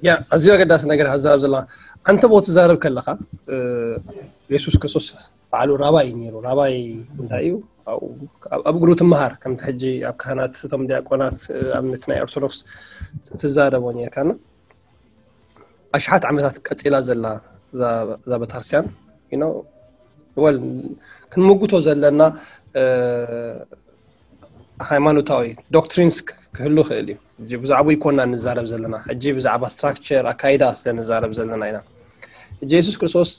ያ ኣዝዩ ኣገዳሲ ነገር ሃዛብ ዘላ። ኣንተ ቦ ትዛረብ ከለኻ፣ የሱስ ክርስቶስ ባዕሉ ራባይ እዩ ነይሩ። ራባይ እንታይ እዩ? ኣብ እግሩ ትመሃር፣ ከምቲ ሕጂ ኣብ ካህናት፣ እቶም ዲያቆናት፣ ኣብነት ናይ ኦርቶዶክስ ትዛረቦ ነርካና። ኣሽሓት ዓመታት ቀፂላ ዘላ እዛ ቤተክርስትያን ወል ክንምጉቶ ዘለና ሃይማኖታዊ ዶክትሪንስ ክህሉ ይኽእል እዩ። ሕጂ ብዛዕባ ይኮና ንዛረብ ዘለና፣ ሕጂ ብዛዕባ ስትራክቸር ኣካይዳ ስለ ንዛረብ ዘለና ኢና። ሕጂ የሱስ ክርስቶስ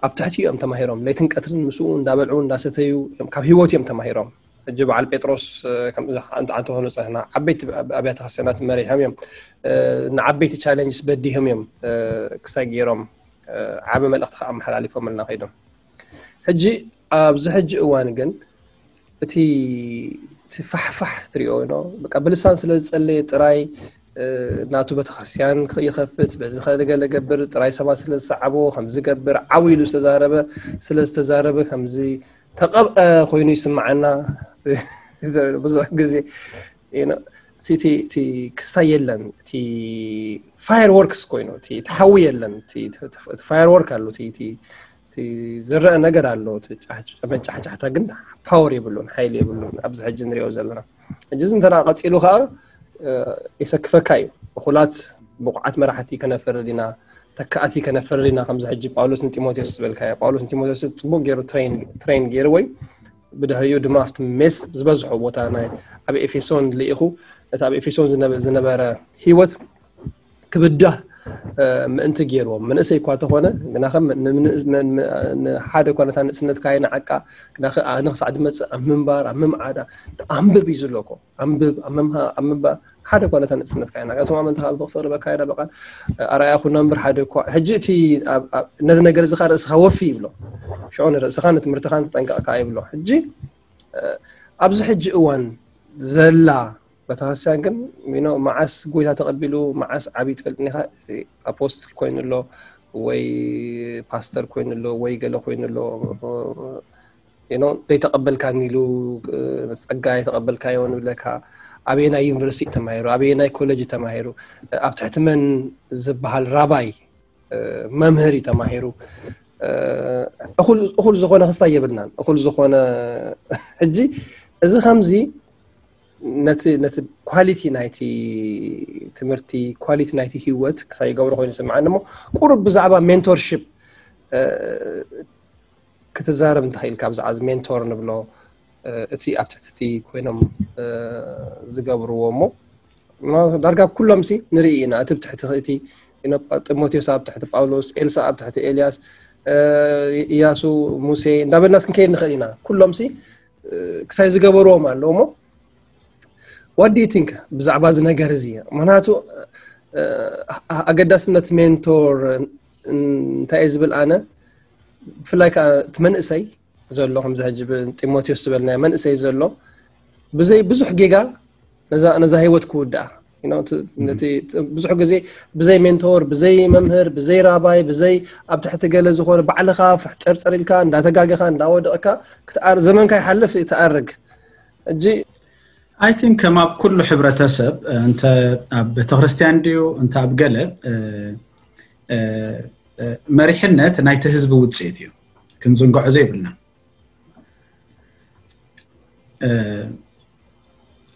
ኣብ ትሕቲ እዮም ተማሂሮም፣ ለይትን ቀትርን ምስኡ እንዳበልዑ እንዳሰተዩ ካብ ህይወት እዮም ተማሂሮም። ሕጂ በዓል ጴጥሮስ ከምዚ እንተኾኑ ፀና ዓበይቲ ኣብያተ ክርስቲያናት መሪሖም እዮም። ንዓበይቲ ቻለንጅስ በዲሆም እዮም ክሳይ ገይሮም ዓብ መልእኽቲ ከዓ ኣመሓላሊፎምልና ከይዶም። ሕጂ ኣብዚ ሕጂ እዋን ግን እቲ ፋሕፋሕ ትሪኦ ኖ በቃ ብልሳን ስለ ዝፀለየ ጥራይ ናቱ ቤተክርስትያን ይኸፍት፣ በዚ ከገለ ገብር፣ ጥራይ ሰባት ስለ ዝሰዓቦ ከምዚ ገብር፣ ዓው ኢሉ ዝተዛረበ ስለ ዝተዛረበ ከምዚ ተቐብአ ኮይኑ ይስምዓና። ብዙሕ ግዜ እቲ ክስታይ የለን፣ እቲ ፋየር ወርክስ ኮይኑ እቲ ሓዊ የለን። ፋየር ወርክ ኣሎ፣ ዝረአ ነገር ኣሎ፣ መጫሕጫሕታ ግን ፓወር የብሉን፣ ሓይሊ የብሉን። ኣብዚ ሕጂ ንሪኦ ዘለና ሕጂ እንተ ቀፂሉ ከዓ የሰክፈካ እዩ። እኹላት ብቑዓት መራሕቲ ከነፍሪ ዲና፣ ተካእቲ ከነፍሪ ዲና? ከምዚ ሕጂ ጳውሎስ ንጢሞቴዎስ ዝበልካዮ፣ ጳውሎስ ንጢሞቴዎስ ፅቡቅ ገይሩ ትሬን ገይሩ ወይ ብድሕሪኡ ድማ ኣብቲ ሜስ ዝበዝሖ ቦታ ናይ ኣብ ኤፌሶን ልኢኹ ነቲ ኣብ ኤፌሶን ዝነበረ ህይወት ክብዳህ ምእንቲ ገይርዎም። መንእሰይ እኳ ተኾነ ግናኸ ሓደ እኳ ነታ ንእስነትካ ይንዓቃ ግናኸ ኣነ ክሳዕ ድመፅእ ኣብ ምንባር ኣብ ምምዓዳ ኣንብብ እዩ ዝብለኮ። ኣንብብ ኣብ ምምሃር ኣብ ምንባር ሓደ እኳ ነታ ንእስነትካ ይንዓቃ። እቶም ኣመንታ ካብ ፍቕሪ በካይዳ በቃል ኣርኣያ ኩና እምበር ሓደ እኳ ሕጂ እቲ ነዚ ነገር እዚ ካ ርእስኻ ወፊ ይብሎ። ሽዑ ንርእስኻ ንትምህርትኻ ንትጠንቀቕካ ይብሎ። ሕጂ ኣብዚ ሕጂ እዋን ዘላ ቤተክርስትያን ግን you know መዓስ ጎይታ ተቐቢሉ መዓስ ዓብዩ ትፈልጥ ኒኻ? ኣፖስትል ኮይኑ ኣሎ ወይ ፓስተር ኮይኑ ኣሎ ወይ ገለ ኮይኑ ኣሎ you know ዘይተቐበልካኒ ኢሉ ጸጋ የተቐበልካዮ ንብለካ። ኣበየናይ ዩኒቨርሲቲ ተማሂሩ? ኣበየናይ ኮሌጅ ተማሂሩ? ኣብ ትሕቲ መን ዝበሃል ራባይ መምህር እዩ ተማሂሩ? እኹል ዝኾነ ክስታይ የብልናን። እኹል ዝኾነ ሕጂ እዚ ከምዚ ነቲ ነቲ ኳሊቲ ናይቲ ትምህርቲ ኳሊቲ ናይቲ ህይወት ክሳይ ይገብሮ ኮይኑ ስምዓኒ እሞ ቁሩብ ብዛዕባ ሜንቶርሽፕ ክትዛረብ እንተኽእል ካብ ዛዕባ ሜንቶር ንብሎ እቲ ኣብ ትሕቲ ኮይኖም ዝገብርዎ እሞ ዳርጋ ኩሎም ሲ ንርኢ ኢና። እቲ ብትሕቲ እቲ ጢሞቴዎስ ኣብ ትሕቲ ጳውሎስ፣ ኤልሳ ኣብ ትሕቲ ኤልያስ፣ ኢያሱ፣ ሙሴ እንዳበልና ክንከይድ ንኽእል ኢና። ኩሎም ሲ ክሳይ ዝገበርዎም ኣለዎ እሞ what do you think ብዛዕባ እዚ ነገር እዚ? ምክንያቱ ኣገዳስነት ሜንቶር እንታይ እየ ዝብል ኣነ ብፍላይ ከዓ እቲ መንእሰይ ዘሎ ከምዚ ሕጂ ጢሞቴዎስ ዝበልናዮ መንእሰይ ዘሎ ብዘይ ብዙሕ ጌጋ ነዛ ነዛ ህይወት ክውድኣ ነቲ ብዙሕ ግዜ ብዘይ ሜንቶር ብዘይ መምህር ብዘይ ራባይ ብዘይ ኣብ ትሕቲ ገለ ዝኾነ ባዕልኻ ፍሕጨርጨር ኢልካ እንዳተጋገኻ እንዳወደቕካ ክትኣር ዘመንካ ይሓልፍ ትኣርግ እጂ I think ከም ኣብ ኩሉ ሕብረተሰብ እንተ ኣብ ቤተክርስትያን ድዩ እንተ ኣብ ገለ መሪሕነት ናይቲ ህዝቢ ውፅኢት እዩ ክንዝንግዖ ዘይብልና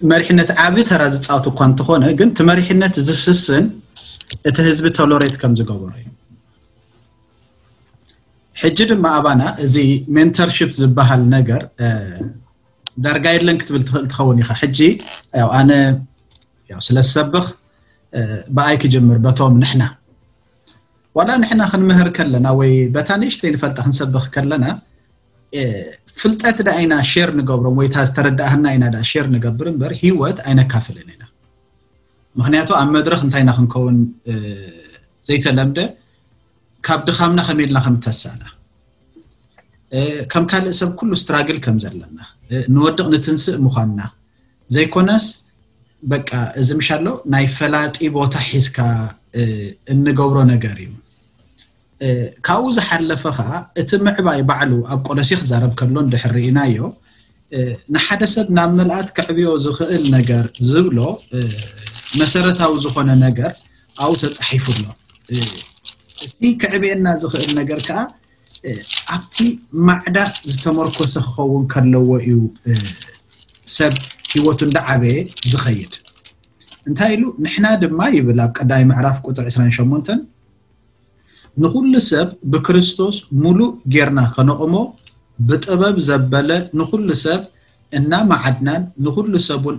መሪሕነት ዓቢ ተራ ዝፃወት እኳ እንተኾነ ግን እቲ መሪሕነት ዝስስን እቲ ህዝቢ ቶሎሬት ከም ዝገበሮ እዩ ሕጂ ድማ ኣባና እዚ ሜንተርሽፕ ዝበሃል ነገር ዳርጋ የለን ክትብል ትኽእል ትኸውን ኢኻ ሕጂ ያው ኣነ ያው ስለ ዝሰብኽ ብኣይ ክጅምር በቶም ንሕና ዋላ ንሕና ክንምህር ከለና ወይ በታ ንእሽተይ ንፈልጣ ክንሰብኽ ከለና ፍልጠት ዳ ኢና ሼር ንገብሮም ወይ እታ ዝተረዳእህና ኢና ዳ ሼር ንገብር እምበር ህይወት ኣይነካፍልን ኢና ምክንያቱ ኣብ መድረክ እንታይ ኢና ክንከውን ዘይተለምደ ካብ ድኻምና ከመይ ኢልና ከም ተሳና ከም ካልእ ሰብ ኩሉ ስትራግል ከም ዘለና ንወድቕ ንትንስእ ምዃንና ዘይኮነስ በቃ እዚ ምሻሎ ናይ ፈላጢ ቦታ ሒዝካ እንገብሮ ነገር እዩ ካብኡ ዝሓለፈ ከዓ እቲ ምዕባይ ባዕሉ ኣብ ቆሎሲ ክዛረብ ከሎ እንድሕር ርኢናዮ ንሓደ ሰብ ናብ ምልኣት ከዕብዮ ዝኽእል ነገር ዝብሎ መሰረታዊ ዝኾነ ነገር ኣብኡ ተፃሒፉ ኣሎ። እቲ ክዕብየና ዝኽእል ነገር ከዓ ኣብቲ ማዕዳ ዝተመርኮሰ ክኸውን ከለዎ እዩ ሰብ ህይወቱ እንዳዓበየ ዝኸይድ። እንታይ ኢሉ? ንሕና ድማ ይብል ኣብ ቀዳማይ ምዕራፍ ቁፅሪ ዕስራን ሸሞንተን፣ ንኹሉ ሰብ ብክርስቶስ ሙሉእ ጌርና ከነቑሞ ብጥበብ ዘበለ ንኹሉ ሰብ እናመዓድናን ንኹሉ ሰብ እውን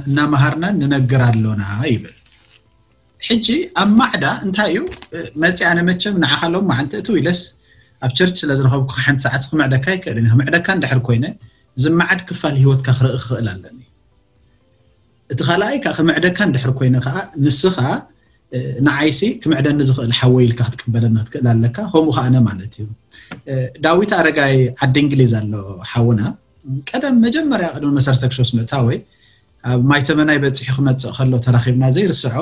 እናመሃርናን ንነግር ኣሎና ይብል። ሕጂ ኣብ ማዕዳ እንታይ እዩ መፂእ? ኣነ መቸም ንዓኻ ሎም መዓንቲ እትው ኢለስ ኣብ ቸርች ስለ ዝረኸብኩ ሓንቲ ሰዓት ክምዕደካ ኣይክእልን። ክምዕደካ እንድሕር ኮይነ ዝመዓድ ክፋል ህይወትካ ክርኢ ክኽእል ኣለኒ። እቲ ካልኣይ ከዓ ክምዕደካ እንድሕር ኮይነ ከዓ ንስኻ ንዓይሲ ክምዕደኒ ዝኽእል ሓወይ ኢልካ ክትቅበለና ክትክእል ኣለካ። ከምኡ ከዓ ኣነ ማለት እዩ። ዳዊት ኣረጋይ ዓዲ እንግሊዝ ኣሎ ሓውና፣ ቀደም መጀመርያ ቅድሚ መሰረተ ክርስቶስ ምእታወይ ኣብ ማይተመናይ በፂሑ ክመፅእ ከሎ ተራኺብና ዘይርስዖ፣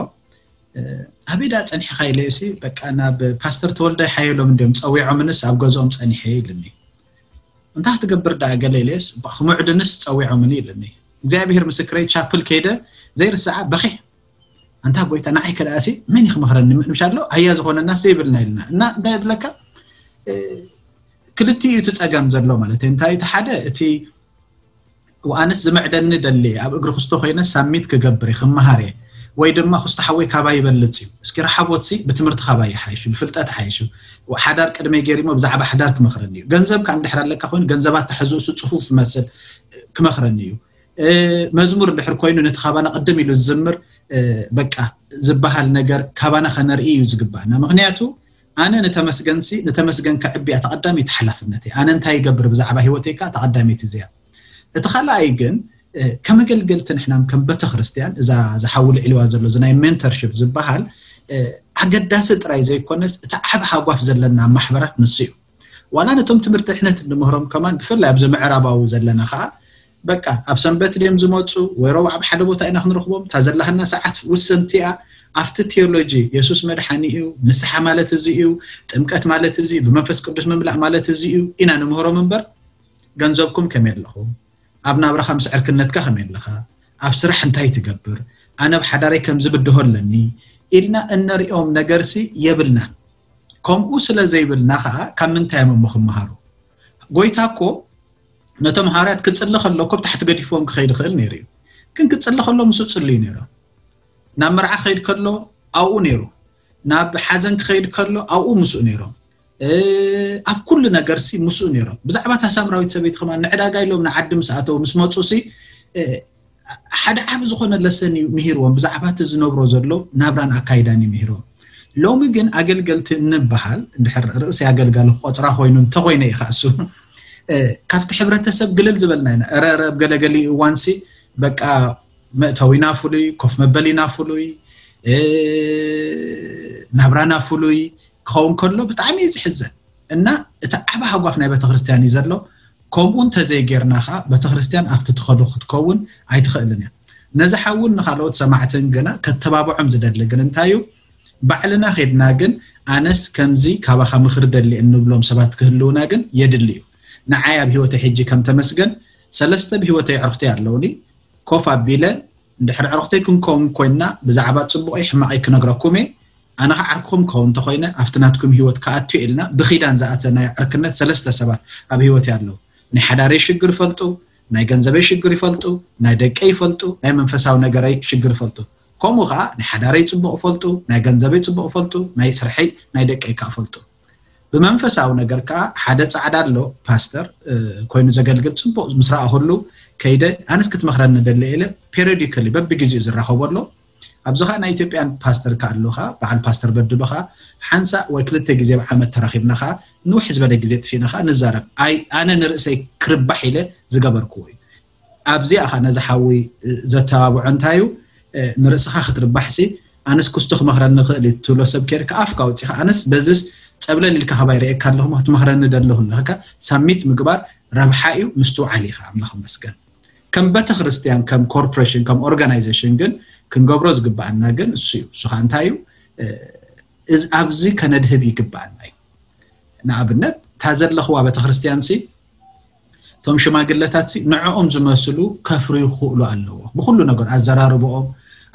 ኣበይ ዳ ፀኒሕኻ ኢለዮሲ፣ በቃ ናብ ፓስተር ተወልዳይ ሓየሎም እንዲዮም ፀዊዖምንስ ኣብ ገዝኦም ፀኒሐ ኢልኒ። እንታይ ክትገብር ዳ ገለ ኢለዮስ፣ ክምዕድንስ ፀዊዖምኒ ኢልኒ። እግዚኣብሔር ምስክረይ፣ ቻፕል ከይደ ዘይርስዓ በኺ። ኣንታ ጎይታ ንዓይ ከደኣሲ መን እዩ ክመኽረኒ? ምሻሎ ኣያ ዝኾነናስ ዘይብልና ኢልና እና እንታይ ብለካ፣ ክልቲኡ እቲ ፀገም ዘሎ ማለት እዩ። እንታይ እቲ ሓደ እቲ ኣነስ ዝምዕደኒ ደሊ ኣብ እግሪ ክስቶ ኮይነ ሳሚት ክገብር ክመሃር ወይ ድማ ክስቶ ሓወይ ካባ ይበልፅ እዩ። እስኪ ረሓቦትሲ ብትምህርቲ ካባ ይሓይሽ፣ ብፍልጠት ሓይሽ። ሓዳር ቅድመይ ገይሪሞ ብዛዕባ ሓዳር ክመኽረኒ እዩ። ገንዘብ ከዓ እንድሕር ኣለካ ኮይኑ ገንዘባት ተሕዝኡ እሱ ፅፉፍ መስል ክመኽረኒ እዩ። መዝሙር እንድሕር ኮይኑ ነቲ ካባና ቅድም ኢሉ ዝዝምር በቃ ዝበሃል ነገር ካባና ከነርኢ እዩ ዝግባእና። ምክንያቱ ኣነ ንተመስገንሲ ንተመስገን ከዕብያ ተቐዳሚት ሓላፍነት እየ። ኣነ እንታይ ይገብር ብዛዕባ ህይወተይ ከዓ ተቐዳሚት እዚያ። እቲ ካልኣይ ግን ከመገልገልቲ ንሕናም ከም ቤተክርስትያን እዛ ዝሓዊ ልዕልዋ ዘሎ ናይ ሜንተርሽፕ ዝበሃል ኣገዳሲ ጥራይ ዘይኮነስ እቲ ዓብ ሃጓፍ ዘለና ማሕበራት ንሱ እዩ። ዋላ ነቶም ትምህርቲ ድሕነት እንምህሮም ከማን ብፍላይ ኣብዚ ምዕራባዊ ዘለና ከዓ በቃ ኣብ ሰንበት ድም ዝመፁ ወይ ረቡዕ ኣብ ሓደ ቦታ ኢና ክንረኽቦም። እታ ዘላህና ሰዓት ውስንቲያ ኣብቲ ቴዎሎጂ የሱስ መድሓኒ እዩ፣ ንስሓ ማለት እዚ እዩ፣ ጥምቀት ማለት እዚ፣ ብመንፈስ ቅዱስ ምምላእ ማለት እዚ እዩ ኢና ንምህሮም እምበር ገንዘብኩም ከመይ ኣለኹም፣ ኣብ ናብራኻ ምስ ዕርክነትካ ከመይ ኣለኻ፣ ኣብ ስራሕ እንታይ ትገብር፣ ኣነ ኣብ ሓዳረይ ከምዚ ብድሆ ኣለኒ ኢልና እነሪኦም ነገርሲ የብልናን። ከምኡ ስለ ዘይብልና ከዓ ካብ ምንታይ እዮም እሞ ክመሃሩ? ጎይታ እኮ ነቶም ሃዋርያት ክጽሊ ከሎ እኮ ብታሕቲ ገዲፍዎም ክኸይድ ይኽእል ነይሩ እዩ። ግን ክጽሊ ከሎ ምስኡ ጽልዩ ነይሮም። ናብ መርዓ ክኸይድ ከሎ ኣብኡ ነይሩ። ናብ ሓዘን ክኸይድ ከሎ ኣብኡ ምስኡ ነይሮም። ኣብ ኩሉ ነገርሲ ምስኡ ነይሮም። ብዛዕባ እታ ሳምራዊት ሰበይቲ ከማን ንዕዳጋ ኢሎም ንዓዲ ምስ ኣተው ምስ መፁ ሲ ሓደ ዓብ ዝኾነ ለሰን እዩ ምሂርዎም። ብዛዕባ እቲ ዝነብሮ ዘሎ ናብራን ኣካይዳን እዩ ምሂርዎም። ሎሚ ግን ኣገልገልቲ እንበሃል እንድሕር ርእሲ ኣገልጋሊ ክቆፅራ ኮይኑ እንተኮይነ እዩ ከእሱ ካብቲ ሕብረተሰብ ግልል ዝበልና ኢና። ረረብ ገለገሊ እዋንሲ በቃ መእተዊና ፍሉይ፣ ኮፍ መበሊና ፍሉይ፣ ናብራና ፍሉይ ክኸውን ከሎ ብጣዕሚ እዩ ዝሕዘን። እና እቲ ዓብ ሃጓፍ ናይ ቤተክርስትያን እዩ ዘሎ። ከምኡ እንተዘይጌርና ከዓ ቤተክርስትያን ኣብቲ ትኸዶ ክትከውን ኣይትኽእልን እያ። ነዚ ሓውን ንካልኦት ሰማዕትን ግና ከተባብዖም ዝደሊ ግን እንታይ እዩ? ባዕልና ኬድና ግን ኣነስ ከምዚ ካባኻ ምኽሪ ደሊ እንብሎም ሰባት ክህልውና ግን የድሊ እዩ። ንዓይ ኣብ ህይወተይ ሕጂ ከም ተመስገን ሰለስተ ብህይወተይ ኣዕርኽቲ ኣለውኒ። ኮፍ ኣቢለ እንድሕር ኣዕርኽተይ ክንከውን ኮይንና ብዛዕባ ፅቡቐይ ሕማቐይ ክነግረኩም እየ። ኣነ ከዓ ዓርክኹም ክኸውን እንተኮይነ ኣብቲ ናትኩም ህይወት ክኣቱ እየ ኢልና ብኪዳን ዝኣተናዮ ዕርክነት ሰለስተ ሰባት ኣብ ህይወተይ ኣለዉ። ናይ ሓዳረይ ሽግር ይፈልጡ፣ ናይ ገንዘበይ ሽግር ይፈልጡ፣ ናይ ደቀይ ይፈልጡ፣ ናይ መንፈሳዊ ነገረይ ሽግር ይፈልጡ። ከምኡ ከዓ ናይ ሓዳረይ ፅቡቕ ይፈልጡ፣ ናይ ገንዘበይ ፅቡቕ ይፈልጡ፣ ናይ ስርሐይ ናይ ደቀይ ከዓ ይፈልጡ። ብመንፈሳዊ ነገር ከዓ ሓደ ፃዕዳ ኣሎ ፓስተር ኮይኑ ዘገልግል ፅቡቕ ምስ ረኣኹሉ ከይደ ኣነስ ክትመኽረኒ ደለ ኢለ ፔሪዮዲካሊ በብግዜኡ ዝራኸቦ ኣሎ። ኣብዚ ከዓ ናይ ኢትዮጵያን ፓስተር ከዓ ኣሎ ከዓ በዓል ፓስተር በድሉ ከዓ ሓንሳእ ወይ ክልተ ግዜ ብዓመት ተራኺብና ከዓ ንውሕ ዝበለ ግዜ ጥፊእና ከዓ ንዛረብ። ኣይ ኣነ ንርእሰይ ክርባሕ ኢለ ዝገበርክዎ እዩ። ኣብዚኣ ከዓ ነዚ ሓዊ ዘተባብዖ እንታይ እዩ? ንርእስኻ ክትርባሕሲ ኣነስ ክስቶ ክመኽረኒ ይኽእል እዩ ትብሎ ሰብ ኬድካ ኣፍካ ኣውፂኻ ኣነስ በዝስ ፀብለል ኢልካ ካባይ ርእየካ ኣለኹ ክትመኽረኒ ደለኹ ኣለካ ሳሚት ምግባር ረብሓ እዩ። ምስትውዓል ኢኻ ኣምላኽ ይመስገን። ከም ቤተክርስትያን ከም ኮርፖሬሽን ከም ኦርጋናይዜሽን ግን ክንገብሮ ዝግበኣና ግን እሱ እዩ። እሱ ከዓ እንታይ እዩ? ኣብዚ ከነድህብ ይግበኣና እዩ። ንኣብነት እታ ዘለኽዋ ቤተክርስትያን ሲ እቶም ሽማግለታት ንዕኦም ዝመስሉ ከፍርዩ ክኽእሉ ኣለዎ። ብኩሉ ነገር ኣዘራርብኦም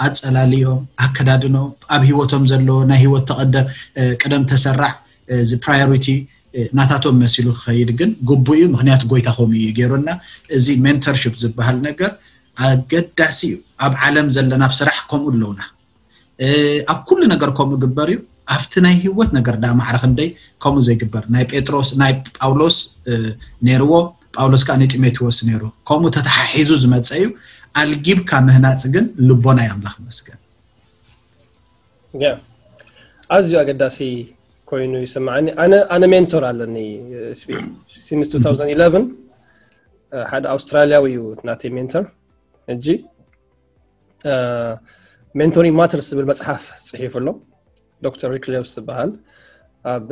ኣጸላልዮም፣ ኣከዳድኖም፣ ኣብ ህይወቶም ዘሎ ናይ ህይወት ተቐደ ቅደም ተሰራዕ፣ እዚ ፕራዮሪቲ ናታቶም መሲሉ ክኸይድ ግን ግቡእ እዩ። ምክንያቱ ጎይታ ከምኡ እዩ ገይሩና። እዚ ሜንተርሽፕ ዝበሃል ነገር ኣገዳሲ እዩ። ኣብ ዓለም ዘለና ኣብ ስራሕ ከምኡ ኣለውና። ኣብ ኩሉ ነገር ከምኡ ግበር እዩ። ኣብቲ ናይ ህይወት ነገር ዳ ማዕረ ክንደይ ከምኡ ዘይግበር? ናይ ጴጥሮስ ናይ ጳውሎስ ነይርዎ፣ ጳውሎስ ከዓ ንጢሞቴዎስ ነይሩ። ከምኡ ተተሓሒዙ ዝመፀ እዩ። ኣልጊብካ ምህናፅ ግን ልቦና እዩ። ኣምላኽ ይመስገን። ኣዝዩ ኣገዳሲ ኮይኑ ይስምዓኒ። ኣነ ኣነ ሜንቶር ኣለኒ። ሲንስ two thousand eleven ሓደ ኣውስትራሊያዊ እዩ ናተይ ሜንተር። ሕጂ ሜንቶሪንግ ማተርስ ዝብል መፅሓፍ ፅሒፉ ኣሎ። ዶክተር ሪክ ሌቭስ ዝበሃል ኣብ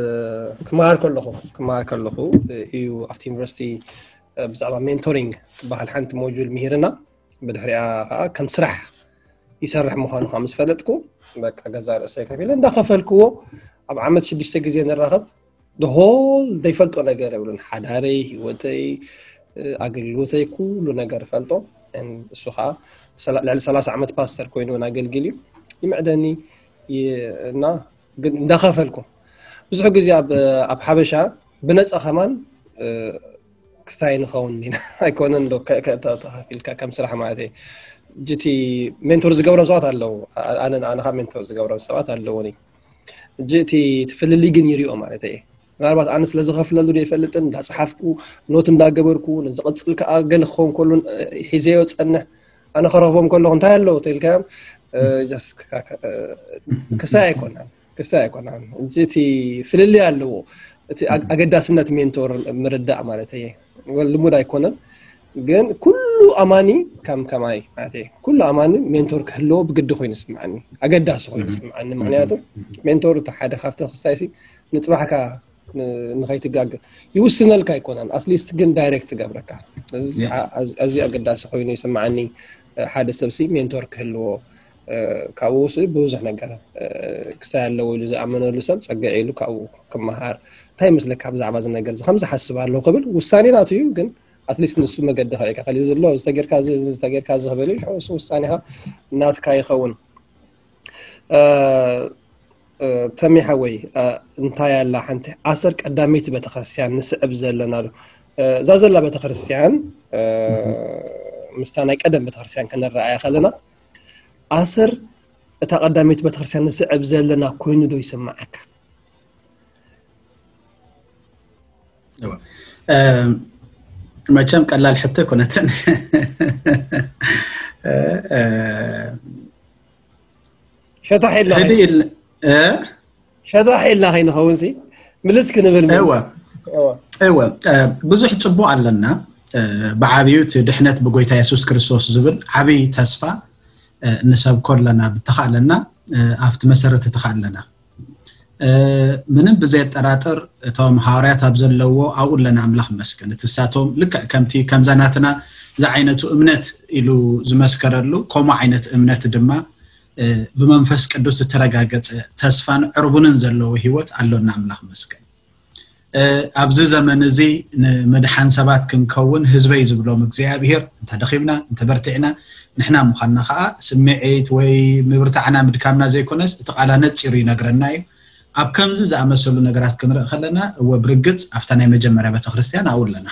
ክመሃር ከለኹ ክመሃር ከለኹ እዩ ኣብቲ ዩኒቨርሲቲ ብዛዕባ ሜንቶሪንግ ዝበሃል ሓንቲ ሞጁል ምሂርና። ብድሕሪኣ ከዓ ከም ስራሕ ይሰርሕ ምዃኑ ከዓ ምስ ፈለጥኩ በቃ ገዛ ርእሰይ ከፊለ እንዳኸፈልክዎ ኣብ ዓመት ሽዱሽተ ግዜ ንራኸብ። ሆል ዘይፈልጦ ነገር የብሉን። ሓዳረይ፣ ህይወተይ፣ ኣገልግሎተይ ኩሉ ነገር ፈልጦ። እሱ ከዓ ልዕሊ ሰላሳ ዓመት ፓስተር ኮይኑ ኣገልግል እዩ። ይምዕደኒ እና ግን እንዳኸፈልኩ ብዙሕ ግዜ ኣብ ሓበሻ ብነፃ ከማን ክስታይ ንኸውን ኢና ኣይኮነን ዶ ተኸፊልካ ከም ስራሕ ማለት እዩ። ጅቲ ሜንቶር ዝገብሮም ሰባት ኣለዉ። ኣነ ኣነኻ ሜንቶር ዝገብሮም ሰባት ኣለዉኒ። እጂ እቲ ፍልልይ ግን ይሪኦ ማለት እየ። ምናልባት ኣነ ስለ ዝኸፍለሉ ዶ ይፈልጥን እንዳፀሓፍኩ ኖት እንዳገበርኩ ንዝቕፅል ከዓ ገለ ክኸውን ከሉ ሒዘዮ ፀንሕ። ኣነ ከረኽቦም ከለኹ እንታይ ኣለዉ ተልካዮም ክስታይ ኣይኮናን ክስታይ ኣይኮናን። እጂ እቲ ፍልልይ ኣለዎ። እቲ ኣገዳስነት ሜንቶር ምርዳእ ማለት እየ። ልሙድ ኣይኮነን ግን ኩሉ ኣማኒ ከም ከማይ ማለት ኩሉ ኣማኒ ሜንቶር ክህልዎ ብግዲ ኮይኑ ይስምዓኒ። ኣገዳሲ ኮይኑ ይስምዓኒ። ምክንያቱ ሜንቶር እቲ ሓደ ካብቲ ክስታይ ንፅባሕካ ንኸይትጋገ ይውስነልካ ኣይኮነን። ኣትሊስት ግን ዳይሬክት ትገብረካ። ኣዝዩ ኣገዳሲ ኮይኑ ይስምዓኒ። ሓደ ሰብ ሲ ሜንቶር ክህልዎ ካብኡ ሲ ብዙሕ ነገር ክስታይ ኣለዎ ኢሉ ዝኣመነሉ ሰብ ፀግዕ ኢሉ ካብኡ ክመሃር እንታይ ይመስለካ ብዛዕባ እዚ ነገር እዚ ከምዚ ሓስብ ኣለዎ ክብል ውሳኔ ናቱ እዩ። ግን ኣትሊስት ንሱ መገዲ ከርእየካ ከሊ ዘሎ ዝተጌርካ ዝተጌርካ ዝኽበል እዩ። ውሳኔኻ ናትካ ይኸውን። ተሚ ሓወይ እንታይ ኣላ ሓንቲ ኣሰር ቀዳመይቲ ቤተክርስትያን ንስዕብ ዘለና ዶ? እዛ ዘላ ቤተክርስትያን ምስታ ናይ ቀደም ቤተክርስትያን ክንረኣያ ከለና ኣሰር እታ ቀዳመይቲ ቤተክርስትያን ንስዕብ ዘለና ኮይኑ ዶ ይስምዓካ? መቸም ቀላል ሕቶ ኮነትን ሸታሕ ኢልና ሸታሕ ኢልና ከይንኸውን ሲ ምልስ ክንብል እወ እወ ብዙሕ ፅቡቅ ኣለና። ብዓብዩ እቲ ድሕነት ብጎይታ የሱስ ክርስቶስ ዝብል ዓብይ ተስፋ ንሰብኮ ኣለና። ብተኻእለና ኣብቲ መሰረት እቲ ኣለና። ምንም ብዘየጠራጥር እቶም ሃዋርያት ኣብ ዘለዎ ኣብኡ ኣለና። ኣምላኽ ይመስገን። እቲ እሳቶም ልክዕ ከምቲ ከምዛ ናትና ዝዓይነቱ እምነት ኢሉ ዝመስከረሉ ከምኡ ዓይነት እምነት ድማ ብመንፈስ ቅዱስ ዝተረጋገፀ ተስፋን ዕርቡንን ዘለዎ ህይወት ኣሎና። ኣምላኽ ይመስገን። ኣብዚ ዘመን እዚ ንምድሓን ሰባት ክንከውን ህዝበይ ዝብሎም እግዚኣብሄር እንተደኺምና እንተበርቲዕና ንሕና ምዃንና ከዓ ስምዒት ወይ ምብርታዕና ምድካምና ዘይኮነስ እቲ ቃላ ነፂሩ ይነግረና እዩ። ኣብ ከምዚ ዝኣመሰሉ ነገራት ክንርኢ ከለና እወ ብርግፅ ኣብታ ናይ መጀመርያ ቤተክርስትያን ኣብኡ ኣለና።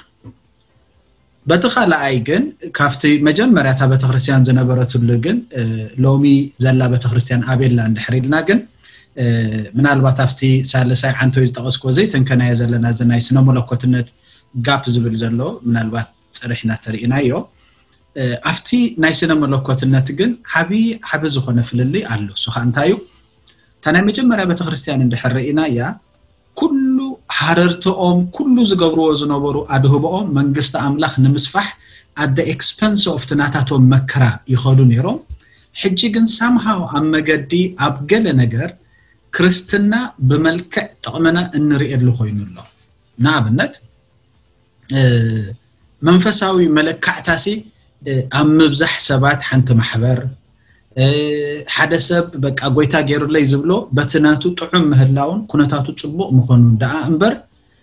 በቲ ካልኣይ ግን ካብቲ መጀመርያ እታ ቤተክርስትያን ዝነበረትሉ ግን ሎሚ ዘላ ቤተክርስትያን ኣበይ ኣላ እንድሕር ኢልና ግን ምናልባት ኣብቲ ሳልሳይ ዓንቶይ ዝጠቐስክዎ ዘይተንከናዮ ዘለና እዚ ናይ ስነ መለኮትነት ጋፕ ዝብል ዘሎ ምናልባት ፅርሕና ተርኢናዮ። ኣብቲ ናይ ስነ መለኮትነት ግን ዓብዪ ዓቢ ዝኾነ ፍልልይ ኣሎ። እሱ ከዓ እንታይ እዩ? እታ ናይ መጀመርያ ቤተክርስትያን እንድሕር ርኢናያ ኩሉ ሃረርተኦም ኩሉ ዝገብርዎ ዝነበሩ ኣድህቦኦም መንግስቲ ኣምላኽ ንምስፋሕ at the expense of ናታቶም መከራ ይኸዱ ነይሮም። ሕጂ ግን ሳምሃው ኣብ መገዲ ኣብ ገለ ነገር ክርስትና ብመልክዕ ጥቕምና እንርእየሉ ኮይኑ ኣሎ። ንኣብነት መንፈሳዊ መለካዕታሲ ኣብ ምብዛሕ ሰባት ሓንቲ ማሕበር ሓደ ሰብ በቃ ጎይታ ገይሩለይ ዝብሎ በቲ ናቱ ጥዑም ምህላውን ኩነታቱ ፅቡቕ ምዃኑን ደኣ እምበር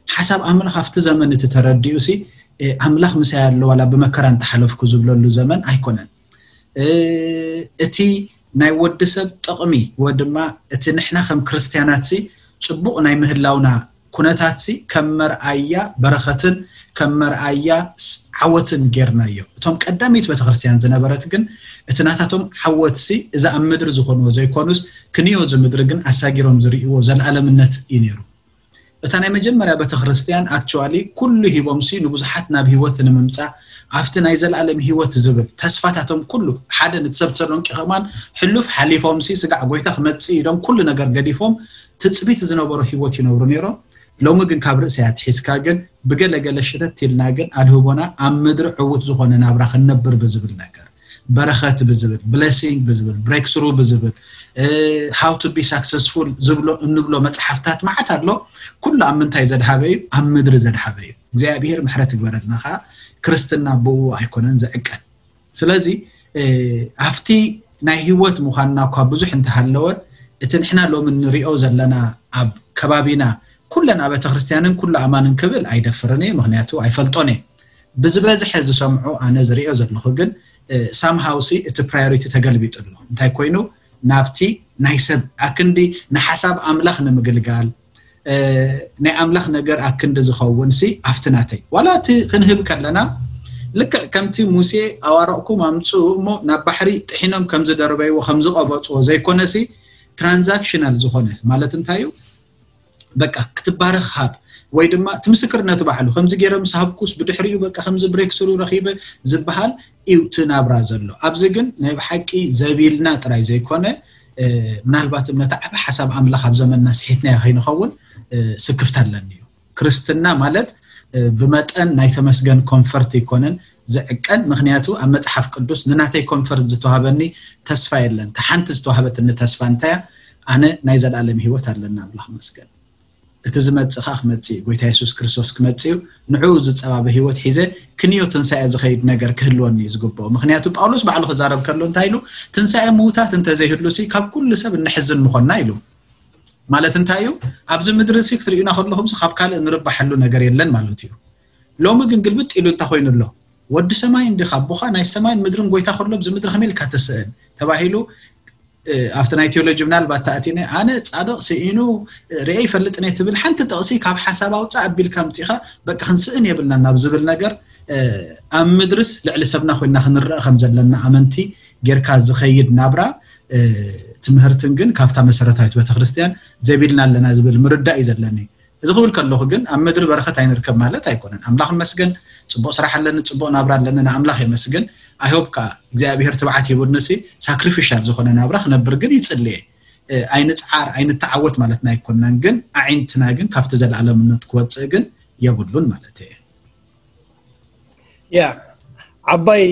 ሓሳብ ኣምላኽ ኣብቲ ዘመን እቲ ተረዲኡ ሲ ኣምላኽ ምሳይ ኣሎ ዋላ ብመከራ እንተሓለፍኩ ዝብለሉ ዘመን ኣይኮነን። እቲ ናይ ወዲ ሰብ ጥቕሚ ወይ ድማ እቲ ንሕና ከም ክርስትያናት ሲ ጽቡቕ ናይ ምህላውና ኩነታት ሲ ከም መርኣያ በረኸትን ከም መርኣያ ዓወትን ጌርናዮ። እቶም ቀዳመይቲ ቤተክርስትያን ዝነበረት ግን እቲ ናታቶም ዓወት ሲ እዚ ኣብ ምድሪ ዝኾንዎ ዘይኮኑስ ክንዮ እዚ ምድሪ ግን ኣሳጊሮም ዝርእይዎ ዘለኣለምነት እዩ ነይሩ። እታ ናይ መጀመርያ ቤተክርስትያን actually ኩሉ ሂቦም ሲ ንብዙሓት ናብ ህይወት ንምምጻእ ኣብቲ ናይ ዘለኣለም ህይወት ዝብል ተስፋታቶም ኩሉ ሓደ ንሰብ ተሰሎንቄ ከማን ሕሉፍ ሓሊፎም ሲ ስጋዕ ጎይታ ክመጽእ ኢሎም ኩሉ ነገር ገዲፎም ትጽቢት ዝነበሮ ህይወት ይነብሩ ነይሮም። ሎሚ ግን ካብ ርእሰይ ኣትሒዝካ ግን ብገለገለ ሸተት ኢልና ግን ኣድህቦና ኣብ ምድሪ ዕዉት ዝኾነ ናብራ ክንነብር ብዝብል ነገር በረኸት ብዝብል blessing ብዝብል breakthrough ብዝብል how to be successful ዝብሎ እንብሎ መጽሓፍታት መዓት ኣሎ። ኩሉ ኣብ ምንታይ ዘድሃበ እዩ? ኣብ ምድሪ ዘድሃበ እዩ። እግዚኣብሔር ምሕረት ይግበረልና። ከዓ ክርስትና ብኡ ኣይኮነን ዝዕቀን። ስለዚ ኣብቲ ናይ ህይወት ምዃንና እኳ ብዙሕ እንተሃለወ እቲ ንሕና ሎሚ ንሪኦ ዘለና ኣብ ከባቢና ኩለን ኣበተ ክርስትያንን ኩሉ ኣማንን ክብል ኣይደፍርን እየ። ምክንያቱ ኣይፈልጦን እየ። ብዝበዝሐ ዝሰምዑ ኣነ ዝሪኦ ዘለኹ ግን ሳምሃው ሲ እቲ priority ተገልቢጡ ኣሎ። እንታይ ኮይኑ ናብቲ ናይ ሰብ ኣክንዲ ንሓሳብ ኣምላኽ ንምግልጋል ናይ ኣምላኽ ነገር ኣክንዲ ዝኸውን ሲ ኣብቲ ናተይ ዋላ እቲ ክንህብ ከለና ልክዕ ከምቲ ሙሴ ኣዋረቕኩም ኣምፅኡ እሞ ናብ ባሕሪ ጥሒኖም ከምዝደርበይዎ ከምዝቐበፅዎ ዘይኮነ ሲ transactional ዝኾነ ማለት እንታይ እዩ? በቃ ክትባረኽ ሃብ ወይ ድማ እቲ ምስክርነት ባዕሉ ከምዚ ገይረ ምስ ሃብኩስ ብድሕሪኡ በቃ ከምዚ breakthrough ረኺበ ዝበሃል እዩ እቲ ናብራ ዘሎ። ኣብዚ ግን ናይ ብሓቂ ዘቢልና ጥራይ ዘይኮነ ምናልባት ነቲ ዓቢ ሓሳብ ኣምላኽ ኣብ ዘመንና ስሒትናዮ ከይንኸውን ስክፍታ ኣለኒ እዩ። ክርስትና ማለት ብመጠን ናይ ተመስገን comfort ኣይኮነን ዝዕቀን። ምክንያቱ ኣብ መጽሓፍ ቅዱስ ንናተይ comfort ዝተዋህበኒ ተስፋ የለን። እታ ሓንቲ ዝተዋህበትኒ ተስፋ እንታይ እያ? ኣነ ናይ ዘለኣለም ህይወት ኣለና ኣምላኽ መስገን። እቲ ዝመጽእ ከዓ ክመጽእ እዩ። ጎይታ የሱስ ክርስቶስ ክመጽእ እዩ። ንዕኡ ዝጸባበ ህይወት ሒዘ ክንዮ ትንሳኤ ዝኸይድ ነገር ክህልወኒ እዩ ዝግብኦ። ምክንያቱ ጳውሎስ ባዕሉ ክዛረብ ከሎ እንታይ ኢሉ? ትንሳኤ ምውታት እንተዘይህሉ ሲ ካብ ኩሉ ሰብ እንሕዝን ምኾንና ኢሉ። ማለት እንታይ እዩ? ኣብዚ ምድሪ ሲ ክትርእዩና ከለኹም ሲ ካብ ካልእ ንርባሓሉ ነገር የለን ማለት እዩ። ሎሚ ግን ግልብጥ ኢሉ እንታይ ኮይኑ ኣሎ? ወዲ ሰማይ እንዲኻ ኣቦኻ ናይ ሰማይን ምድርን ጎይታ ከሎ ኣብዚ ምድሪ ከመይ ኢልካ ትስእን ተባሂሉ ኣብቲ ናይ ቴዎሎጂ ምናልባት ተኣቲነ ኣነ ጻድቕ ስኢኑ ርኤ ይፈልጥን እየ ትብል ሓንቲ ጥቕሲ ካብ ሓሳብ ኣውጻእ ኣቢልካ ኣምጺኻ በቃ ክንስእን የብልናን ናብ ዝብል ነገር ኣብ ምድርስ ልዕሊ ሰብና ኮይና ክንረአ ከም ዘለና ኣመንቲ ጌርካ ዝኸይድ ናብራ ትምህርትን ግን ካብታ መሰረታዊት ቤተክርስትያን ዘቢልና ኣለና ዝብል ምርዳእ እዩ ዘለኒ። እዚ ክብል ከለኹ ግን ኣብ ምድሪ በረኸት ኣይንርከብ ማለት ኣይኮነን። ኣምላኽ ይመስገን፣ ጽቡቕ ስራሕ ኣለኒ፣ ጽቡቕ ናብራ ኣለኒ፣ ንኣምላኽ የመስግን። I hope ከዓ እግዚኣብሔር ትብዓት ሂቡኒ ሲ ሳክሪፊሻል ዝኾነ ናብራ ክነብር ግን ይጽልየ። ኣይንጽዓር ኣይንተዓወት ማለትና ኣይኮንናን፣ ግን ኣዒንትና ግን ካብቲ ዘለኣለምነት ክወጽእ ግን የብሉን ማለት እየ። ያ ዓባይ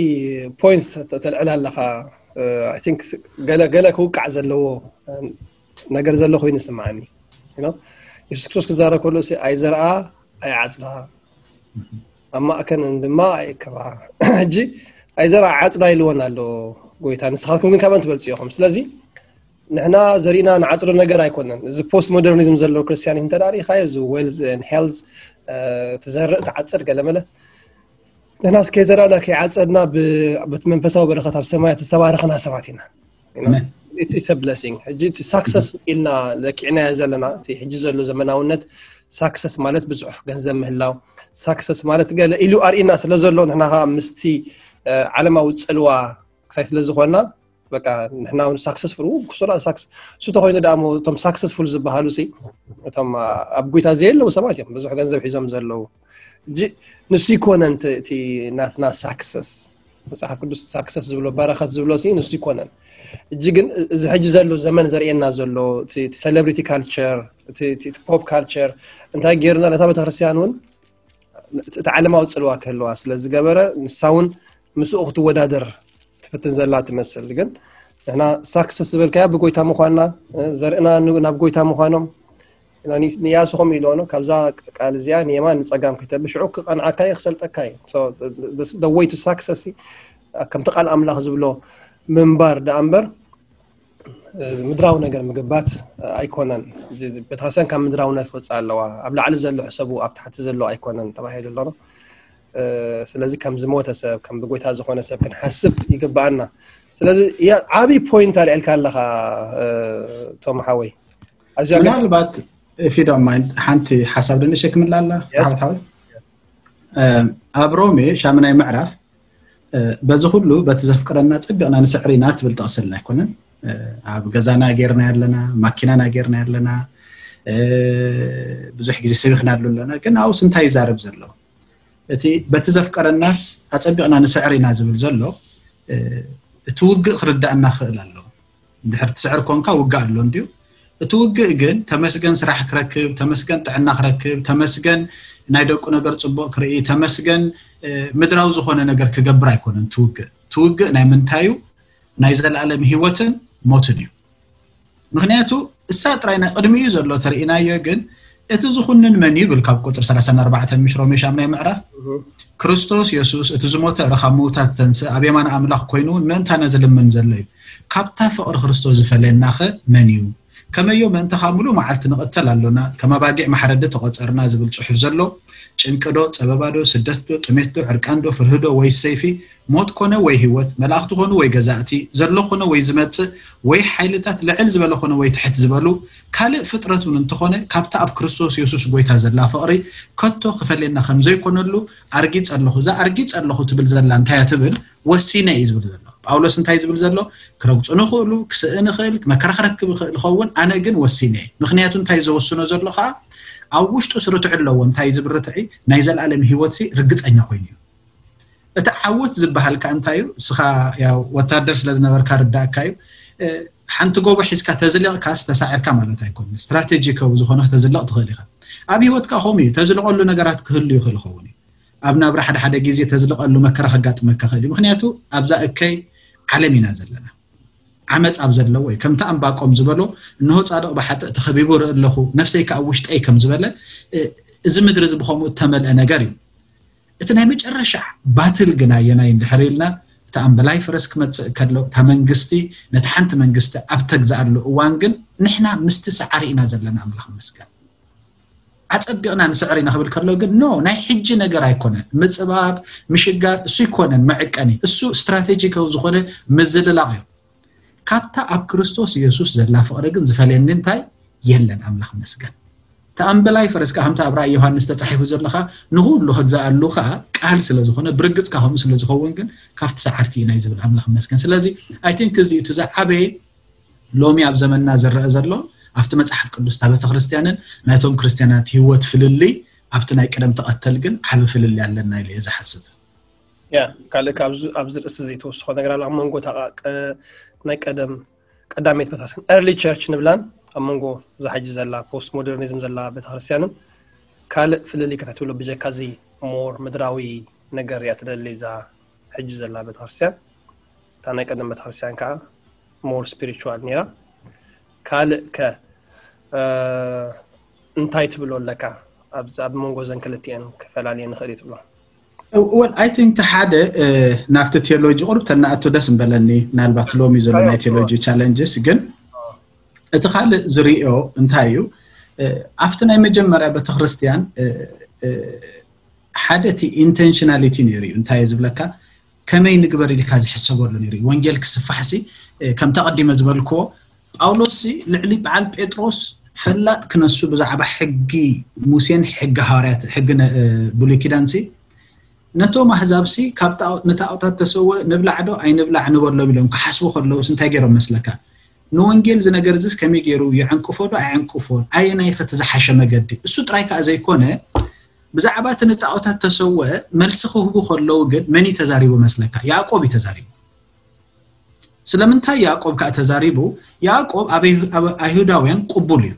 ፖይንት ተልዕል ኣለኻ። I think ገለ ገለ ክውቃዕ ዘለዎ ነገር ዘሎ ኮይኑ ይስምዓኒ። የሱስ ክርስቶስ ክዛረብ ከሎ ኣይዘርኣ ኣይዓፅዳ ኣብ ማእከለን ድማ ኣይእከባ። ሕጂ ኣይዘርኣ ዓፅዳ ኢልወን ኣሎ ጎይታ፣ ንስኻትኩም ግን ካብአን ትበልፁ ኢኹም። ስለዚ ንሕና ዘሪእና ንዓፅዶ ነገር ኣይኮነን። እዚ ፖስት ሞደርኒዝም ዘለዎ ክርስትያን እንተ ርኢኻዮ እዚ wealth and health ትዘርእ ትዓፅድ ገለመለ ንሕናስ ከይዘራእና ከይዓፀድና በቲ መንፈሳዊ በረኸት ኣብ ሰማያት ዝተባረኽና ሰባት ኢና። It's a blessing። ሕጂ እቲ ሳክሰስ ኢልና ለኪዕናዮ ዘለና እቲ ሕጂ ዘሎ ዘመናውነት ሳክሰስ ማለት ብዙሕ ገንዘብ ምህላው ሳክሰስ ማለት ገለ ኢሉ ኣርእና ስለ ዘሎ ንሕና ከዓ ምስቲ ዓለማዊ ፅልዋ ክሳይ ስለ ዝኾንና በቃ ንሕና እውን ሳክሰስፉል ክሱራ ሳክስ እሱ ተኮይኑ ደኣ እቶም ሳክሰስፉል ዝበሃሉ ሲ እቶም ኣብ ጎይታ ዘየለዉ ሰባት እዮም ብዙሕ ገንዘብ ሒዞም ዘለዉ እንጂ ንሱ ይኮነን እቲ ናትና ሳክሰስ መፅሓፍ ቅዱስ ሳክሰስ ዝብሎ በረከት ዝብሎ ሲ ንሱ ይኮነን እጂ ግን እዚ ሕጂ ዘሎ ዘመን ዘርእየና ዘሎ ሴሌብሪቲ ካልቸር ፖፕ ካልቸር እንታይ ገይርና ነታ ቤተክርስትያን እውን እቲ ዓለማዊ ፅልዋ ክህልዋ ስለ ዝገበረ ንሳ እውን ምስኡ ክትወዳደር ትፍትን ዘላ ትመስል ግን ንሕና ሳክሰስ ዝበልካያ ብጎይታ ምኳንና ዘርእና ናብ ጎይታ ምኳኖም ንያሱ ከም ኢልዎ ነው ካብዛ ቃል እዚኣ ንየማን ንፀጋም ከይተብል ሽዑ ክቐንዓካ እዩ ክሰልጠካ እዩ the way to success ከምቲ ቃል ኣምላኽ ዝብሎ ምንባር ደኣ እምበር ምድራዊ ነገር ምግባት ኣይኮነን። ቤተክርስትያን ካብ ምድራውነት ወፃእ ኣለዋ። ኣብ ላዕሊ ዘሎ ሕሰቡ ኣብ ታሕቲ ዘሎ ኣይኮነን ተባሂሉ ኣሎ። ስለዚ ከም ዝሞተ ሰብ ከም ብጎይታ ዝኾነ ሰብ ክንሓስብ ይግብኣና። ስለዚ ዓብይ ፖይንት ኣልዕልካ ኣለካ ቶም ሓወይ። ምናልባት if you don't mind ሓንቲ ሓሳብ ድንሸክምላ ኣላ ሓወይ። ኣብ ሮሜ ሻምናይ ምዕራፍ በዚ ኩሉ በቲ ዘፍቅረና ጸቢቕና ንስዕር ኢና ትብል ጥቕሲ ኣላ ኣይኮነን። ኣብ ገዛና ጌርና ያለና፣ ማኪናና ጌርና ያለና፣ ብዙሕ ግዜ ሰቢኽናሉ ኣለና። ግን ኣብኡስ እንታይ ይዛረብ ዘሎ? እቲ በቲ ዘፍቀረናስ ኣጸቢቕና ንስዕር ኢና ዝብል ዘሎ እቲ ውግእ ክርዳእና ክእል ኣሎ። እንድሕር ትስዕር ኮንካ ውግእ ኣሎ እንድዩ። እቲ ውግእ ግን ተመስገን ስራሕ ክረክብ፣ ተመስገን ጥዕና ክረክብ፣ ተመስገን ናይ ደቁ ነገር ጽቡቕ ክርኢ፣ ተመስገን ምድራዊ ዝኾነ ነገር ክገብር ኣይኮነን ትውግእ። ትውግእ ናይ ምንታዩ ናይ ዘለኣለም ህይወትን ሞትን እዩ። ምክንያቱ እሳ ጥራይ ናይ ቅድሚኡ ዘሎ ተርእናዮ። ግን እቲ ዝኹንን መን ይብል ካብ ቁፅሪ ሰላሳ ኣርባዕተ ምሽ ሮሜ ሻምናይ ምዕራፍ ክርስቶስ የሱስ እቲ ዝሞተ እረ ካብ ምውታት ዝተንስእ ኣብ የማን ኣምላኽ ኮይኑ እውን ምእንታና ዝልምን ዘሎ እዩ። ካብታ ፍቕሪ ክርስቶስ ዝፈለየናኸ መን እዩ? ከመዮ ምእንተ ካብ ሙሉእ መዓልቲ ንቐተል ኣሎና፣ ከም ኣባጊዕ ማሕረዲ ተቖጸርና ዝብል ጽሑፍ ዘሎ፣ ጭንቂ ዶ፣ ጸበባ ዶ፣ ስደት ዶ፣ ጥሜት ዶ፣ ዕርቃን ዶ፣ ፍርሂ ዶ፣ ወይስ ሰይፊ፣ ሞት ኮነ ወይ ህይወት፣ መላእኽቲ ኮኑ ወይ ገዛእቲ፣ ዘሎ ኮነ ወይ ዝመጽእ፣ ወይ ሓይልታት ልዕል ዝበለ ኮነ ወይ ትሕት ዝበሉ፣ ካልእ ፍጥረት እውን እንተኾነ፣ ካብታ ኣብ ክርስቶስ የሱስ ጎይታ ዘላ ፍቕሪ ከቶ ክፈልየና ከም ዘይኮነሉ ኣርጊጸ ኣለኹ። እዛ ኣርጊጸ ኣለኹ ትብል ዘላ እንታይ እያ ትብል? ወሲነ እዩ ዝብል ዘሎ። ጳውሎስ እንታይ ዝብል ዘሎ? ክረግጹ ንኽእሉ፣ ክስእ ንኽእል፣ መከራ ክረክብ ይኽእል ይኸውን፣ ኣነ ግን ወሲነ እየ። ምኽንያቱ እንታይ ዘወስኖ ዘሎ ከዓ ኣብ ውሽጡ ስርትዕ ኣለዎ። እንታይ ዝብል ርትዒ? ናይ ዘለኣለም ህይወት ሲ ርግጸኛ ኮይኑ እዩ። እቲ ዓወት ዝበሃል ከዓ እንታይ እዩ? እስኻ ያው ወታደር ስለ ዝነበርካ ርዳእካ እዩ። ሓንቲ ጎቦ ሒዝካ ተዝሊቕካስ ተሳዒርካ ማለት ኣይኮነ። ስትራቴጂካዊ ዝኾነ ተዝልቕ ትኽእል ኢኻ። ኣብ ህይወትካ ከምኡ እዩ። ተዝልቐሉ ነገራት ክህሉ ይኽእል ይኸውን እዩ። ኣብ ናብራ ሓደ ሓደ ግዜ ተዝልቐሉ መከራ ከጋጥመካ ክእል እዩ። ምክንያቱ ኣብዛ እከይ ዓለም ኢና ዘለና። ዓመፅ ኣብ ዘለዎ እዩ። ከምቲ ኣንባቆም ዝበሎ፣ እንሆ ጻድቕ ብሓጥእ ተኸቢቡ ርኢ ኣለኹ፣ ነፍሰይ ከኣ ውሽጠይ ከም ዝበለ፣ እዚ ምድሪ እዚ ብኸምኡ እተመልአ ነገር እዩ። እቲ ናይ መጨረሻ ባትል ግን ኣየናይ እንድሕር ኢልና፣ እቲ ኣምበላይ ፈረስ ክመፅእ ከሎ፣ እታ መንግስቲ ነቲ ሓንቲ መንግስቲ ኣብ ተግዝኣሉ እዋን ግን ንሕና ምስቲ ሰዓሪ ኢና ዘለና። ኣምላኽ ይመስገን። ኣጸቢቕና ንስዕር ኢና ክብል ከሎ ግን ኖ፣ ናይ ሕጂ ነገር ኣይኮነን። ምጽባብ፣ ምሽጋር እሱ ኣይኮነን መዕቀኒ። እሱ ስትራቴጂካዊ ዝኾነ ምዝልላቕ እዩ። ካብታ ኣብ ክርስቶስ የሱስ ዘላ ፍቕሪ ግን ዝፈልየኒ እንታይ የለን። ኣምላኽ ይመስገን። ተኣምበላይ ፈረስካ ከምቲ ኣብ ራእይ ዮሃንስ ተጻሒፉ ዘለኻ ንኹሉ ክግዛኣሉ ከኣ ቃል ስለ ዝኾነ ብርግጽካ ከምኡ ስለ ዝኸውን ግን ካብቲ ሰዓርቲ ኢና እዩ ዝብል። ኣምላኽ ይመስገን። ስለዚ ኣይ ቲንክ እዚ እቲ ዝዓበየ ሎሚ ኣብ ዘመንና ዝረአ ዘሎ ኣብቲ መጽሓፍ ቅዱስ እታ ቤተክርስትያንን ናይቶም ክርስትያናት ህይወት ፍልልይ ኣብቲ ናይ ቅደም ተቐተል ግን ዓቢ ፍልልይ ኣለና ኢለ እየ ዝሓስብ። ያ ካልእ ኣብዚ ኣብዚ ርእሲ ዘይተወስኾ ነገር ኣሎ ኣብ መንጎ ናይ ቀደም ቀዳመይቲ ቤተክርስትያን early church ንብላን ኣብ መንጎ እዛ ሕጂ ዘላ ፖስት ሞደርኒዝም ዘላ ቤተክርስትያንን ካልእ ፍልልይ ከተትብሎ ብጀካ እዚ more ምድራዊ ነገር እያ ትደሊ እዛ ሕጂ ዘላ ቤተክርስትያን። እታ ናይ ቀደም ቤተክርስትያን ከዓ more spiritual ነይራ። ካልእ ከ እንታይ ትብሎ ኣለካ? ኣብ መንጎ ዘን ክልቲኤን ክፈላልየ ንኽእል እዩ ትብሎ? Well, I think እቲ ሓደ ናብቲ ቴዎሎጂ ቁሩብ ተናእቱ ደስ ምበለኒ። ምናልባት ሎሚ ዘሎ ናይ ቴዎሎጂ ቻለንጅስ ግን እቲ ካልእ ዝሪኦ እንታይ እዩ? ኣብቲ ናይ መጀመርያ ቤተክርስትያን ሓደ እቲ ኢንቴንሽናሊቲ ነይሩ እዩ። እንታይ ዝብለካ ከመይ ንግበር ኢልካ ዝሕሰበሉ ነይሩ እዩ። ወንጌል ክስፋሕሲ ከምቲ ኣቐዲመ ዝበልክዎ ጳውሎስ ልዕሊ በዓል ጴጥሮስ ፈላጥ ክነሱ ብዛዕባ ሕጊ ሙሴን ሕጊ ሃዋርያት ሕጊ ብሉይ ኪዳንሲ ነቶም ኣህዛብሲ ካብ ንጣዖታት ተሰወ ንብላዕ ዶ ኣይንብላዕ ንበሎም ኢሎም ክሓስቡ ከለውስ እንታይ ገይሮም መስለካ? ንወንጌል ዝነገር እዚስ ከመይ ገይሩ የዕንቅፎ ዶ ኣይዕንቅፎን? ኣየናይ ከቲ ዝሓሸ መገዲ? እሱ ጥራይ ከዓ ዘይኮነ ብዛዕባ እቲ ንጣዖታት ተሰወ መልሲ ክህቡ ከለዉ ግን መን እዩ ተዛሪቡ መስለካ? ያዕቆብ እዩ ተዛሪቡ። ስለምንታይ ያዕቆብ ከዓ ተዛሪቡ? ያዕቆብ ኣብ ኣይሁዳውያን ቅቡል እዩ።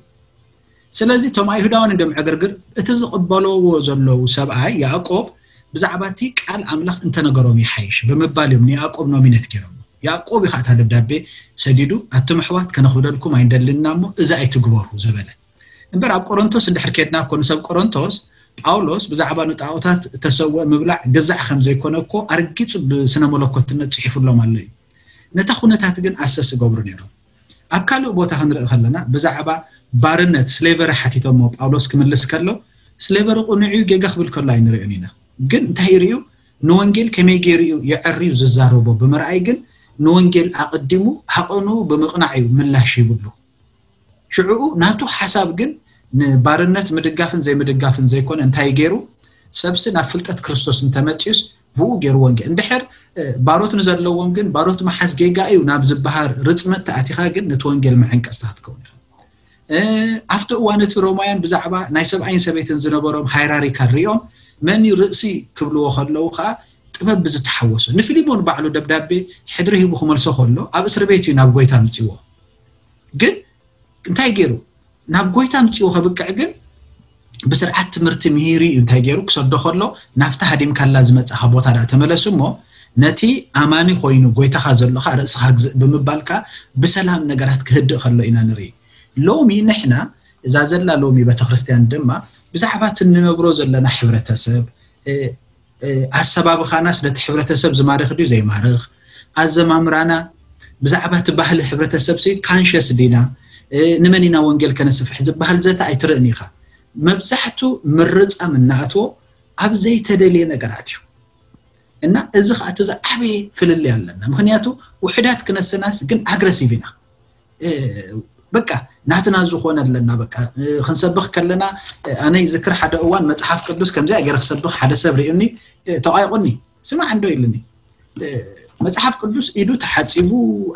ስለዚ እቶም ኣይሁዳውያን እንዲም ዕግርግር እቲ ዝቕበለዎ ዘለዉ ሰብኣይ ያዕቆብ ብዛዕባ እቲ ቃል ኣምላኽ እንተነገሮም ይሓይሽ ብምባል እዮም ንያዕቆብ ኖሚኔት ገይሮም። ያዕቆብ እዩ ከዓ እታ ደብዳቤ ሰዲዱ ኣቱም ኣሕዋት ከነኽብደልኩም ኣይንደልንና እሞ እዚ ኣይትግበሩ ዝበለ። እምበር ኣብ ቆሮንቶስ እንድሕር ኬድና እኮ ንሰብ ቆሮንቶስ ጳውሎስ ብዛዕባ ንጣዖታት ተሰወ ምብላዕ ግዛዕ ከም ዘይኮነ እኮ ኣርጊጹ ብስነ መለኮትነት ጽሒፉሎም ኣሎ እዩ። ነታ ኩነታት ግን ኣሰስ ይገብሩ ነይሮም። ኣብ ካልእ ቦታ ክንርኢ ከለና ብዛዕባ ባርነት ስሌቨሪ ሓቲቶሞ ጳውሎስ ክምልስ ከሎ ስሌቨሪ ቁኑዕ እዩ ጌጋ ክብል ከሎ ኣይንርእን ኢና። ግን እንታይ ይርእዩ ንወንጌል ከመይ ገይሩ እዩ የዐርዩ ዝዛረቦ ብምርኣይ ግን ንወንጌል ኣቐዲሙ ሃቐኑ ብምቕናዕ እዩ ምላሽ ይብሉ። ሽዕኡ ናቱ ሓሳብ ግን ንባርነት ምድጋፍን ዘይምድጋፍን ዘይኮነ እንታይ ገይሩ፣ ሰብሲ ናብ ፍልጠት ክርስቶስ እንተመፅዩስ ብኡ ገይሩ ወንጌል እንድሕር ባሮት ንዘለዎም ግን ባሮት መሓዝ ጌጋ እዩ ናብ ዝበሃል ርፅመት ተኣቲኻ ግን ነቲ ወንጌል መዐንቀፅታ ክትከውን ኢኻ። ኣብቲ እዋን እቲ ሮማውያን ብዛዕባ ናይ ሰብኣይን ሰበይትን ዝነበሮም ሃይራሪካል ሪኦም መን እዩ ርእሲ ክብልዎ ከለዉ ከዓ ጥበብ ብዝተሓወሶ ንፊሊሞን ባዕሉ ደብዳቤ ሕድሪ ሂቡ ክመልሶ ከሎ ኣብ እስር ቤት እዩ ናብ ጎይታ ምፅዎ። ግን እንታይ ገይሩ ናብ ጎይታ ምፅዎ ከብቅዕ ግን ብስርዓት ትምህርቲ ምሂሩ እዩ እንታይ ገይሩ ክሰዶ ከሎ ናብቲ ሃዲምካላ ዝመፃኻ ቦታ ዳ ተመለሱ እሞ ነቲ ኣማኒ ኮይኑ ጎይታኻ ዘሎኻ ርእስኻ ግዝእ ብምባልካ ብሰላም ነገራት ክህድእ ከሎ ኢና ንርኢ። ሎሚ ንሕና እዛ ዘላ ሎሚ ቤተክርስትያን ድማ ብዛዕባ እቲ እንነብሮ ዘለና ሕብረተሰብ ኣሰባብኻናስ ነቲ ሕብረተሰብ ዝማርኽ ድዩ ዘይማርኽ፣ ኣዘማምራና ብዛዕባ እቲ ባህሊ ሕብረተሰብ ሲ ካንሸስ ዲና፣ ንመን ኢና ወንጌል ከነስፍሕ ዝበሃል ዘተ ኣይትርእን ኢኻ። መብዛሕቱ ምርፃም እናኣትዎ ኣብ ዘይተደልየ ነገራት እዩ። እና እዚ ከዓ እቲ ዝዓበየ ፍልልይ ኣለና። ምክንያቱ ውሕዳት ክነስናስ ግን ኣግረሲቭ ኢና። በቃ ናትና ዝኾነ ኣለና። በቃ ክንሰብኽ ከለና ኣነ ይዝክር ሓደ እዋን መፅሓፍ ቅዱስ ከምዚኣ ገይረ ክሰብኽ ሓደ ሰብ ሪኡኒ ተቋይቁኒ። ስማዕ እንዶ ኢሉኒ። መፅሓፍ ቅዱስ ኢዱ ተሓፂቡ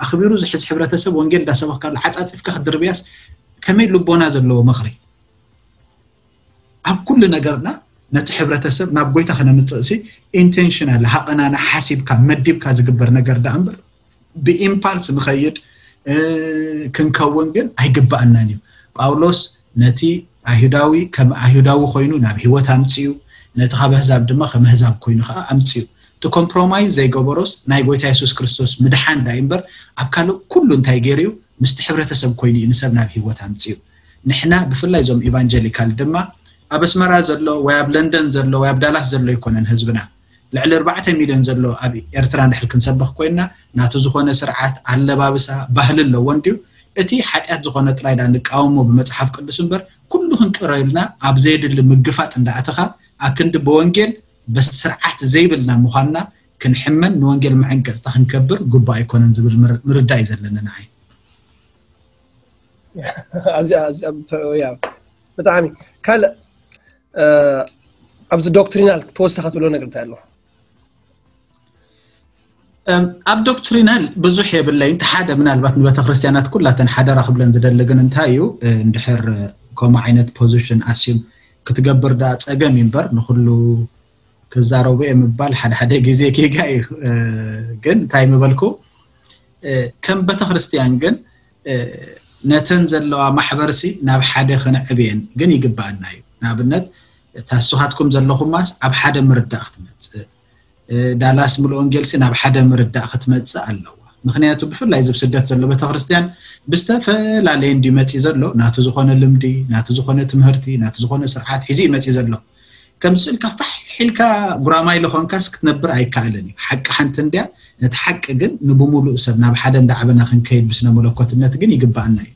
ኣኽቢሩ ዝሕዝ ሕብረተሰብ ወንጌል እንዳሰበኽካሉ ሓፃፂፍካ ክትድርብያስ ከመይ ልቦና ዘለዎ ምኽሪ። ኣብ ኩሉ ነገርና ነቲ ሕብረተሰብ ናብ ጎይታ ከነምፅእ ሲ ኢንቴንሽናል ሃቐናና ሓሲብካ መዲብካ ዝግበር ነገር ዳ እምበር ብኢምፓልስ ንኸይድ ክንከውን ግን ኣይግባኣናን እዩ። ጳውሎስ ነቲ ኣይሁዳዊ ከም ኣይሁዳዊ ኮይኑ ናብ ህይወት ኣምፅኡ፣ ነቲ ካብ ኣህዛብ ድማ ከም ኣህዛብ ኮይኑ ከዓ ኣምፅኡ። እቲ ኮምፕሮማይዝ ዘይገበሮስ ናይ ጎይታ የሱስ ክርስቶስ ምድሓን ዳይ እምበር ኣብ ካልእ ኩሉ እንታይ ገይሩ እዩ? ምስቲ ሕብረተሰብ ኮይኑ እዩ ንሰብ ናብ ህይወት ኣምፅኡ። ንሕና ብፍላይ እዞም ኢቫንጀሊካል ድማ ኣብ ኣስመራ ዘሎ ወይ ኣብ ለንደን ዘሎ ወይ ኣብ ዳላስ ዘሎ ኣይኮነን ህዝብና። ልዕሊ ኣርባዕተ ሚልዮን ዘሎ ኣብ ኤርትራ እንድሕር ክንሰብኽ ኮይንና ናቱ ዝኾነ ስርዓት ኣለባብሳ ባህሊ ኣለዎ እንድዩ። እቲ ሓጢኣት ዝኾነ ጥራይ ዳ ንቃወሞ ብመፅሓፍ ቅዱስ እምበር ኩሉ ክንቅረልና ኣብ ዘየድሊ ምግፋጥ እንዳኣተኻ ኣክንዲ ብወንጌል በስርዓት ዘይብልና ምዃንና ክንሕመን ንወንጌል መዐንቀፅታ ክንከብር ግቡእ ኣይኮነን ዝብል ምርዳእ እዩ ዘለና ንዓይ። ብጣዕሚ ካልእ ኣብዚ ዶክትሪናል ተወሳኺ ትብሎ ነገር እንታይ ኣሎ? ኣብ ዶክትሪናል ብዙሕ የብለይ። እንተ ሓደ ምናልባት ንቤተክርስትያናት ኩላተን ሓደራ ክብለን ዝደሊ ግን እንታይ እዩ እንድሕር ከምኡ ዓይነት ፖዚሽን ኣስዩም ክትገብር ዳ ፀገም እዩ እምበር ንኩሉ ክዛረቡ እየ ምባል ሓደ ሓደ ግዜ ጌጋ እዩ። ግን እንታይ ምበልኩ ከም ቤተክርስትያን ግን ነተን ዘለዋ ማሕበርሲ ናብ ሓደ ክነዕብየን ግን ይግባኣና እዩ። ንኣብነት ታስኻትኩም ዘለኹማስ ኣብ ሓደ ምርዳእ ክትመፅእ ዳላስ ሙሉ ወንጌልሲ ናብ ሓደ ምርዳእ ክትመፅእ ኣለዋ። ምክንያቱ ብፍላይ እዚ ስደት ዘሎ ቤተክርስትያን ብዝተፈላለየ እንዲ መፂ ዘሎ ናቱ ዝኾነ ልምዲ ናቱ ዝኾነ ትምህርቲ ናቱ ዝኾነ ስርዓት ሒዙ ይመፂ ዘሎ። ከም ስእልካ ፋሕ ኢልካ ጉራማይ ለኾንካስ ክትነብር ኣይከኣልን እዩ። ሓቂ ሓንቲ እንድያ። ነቲ ሓቂ ግን ንብሙሉእ ሰብ ናብ ሓደ እንዳዕበና ክንከይድ ብስነ መለኮትነት ግን ይግባኣና እዩ።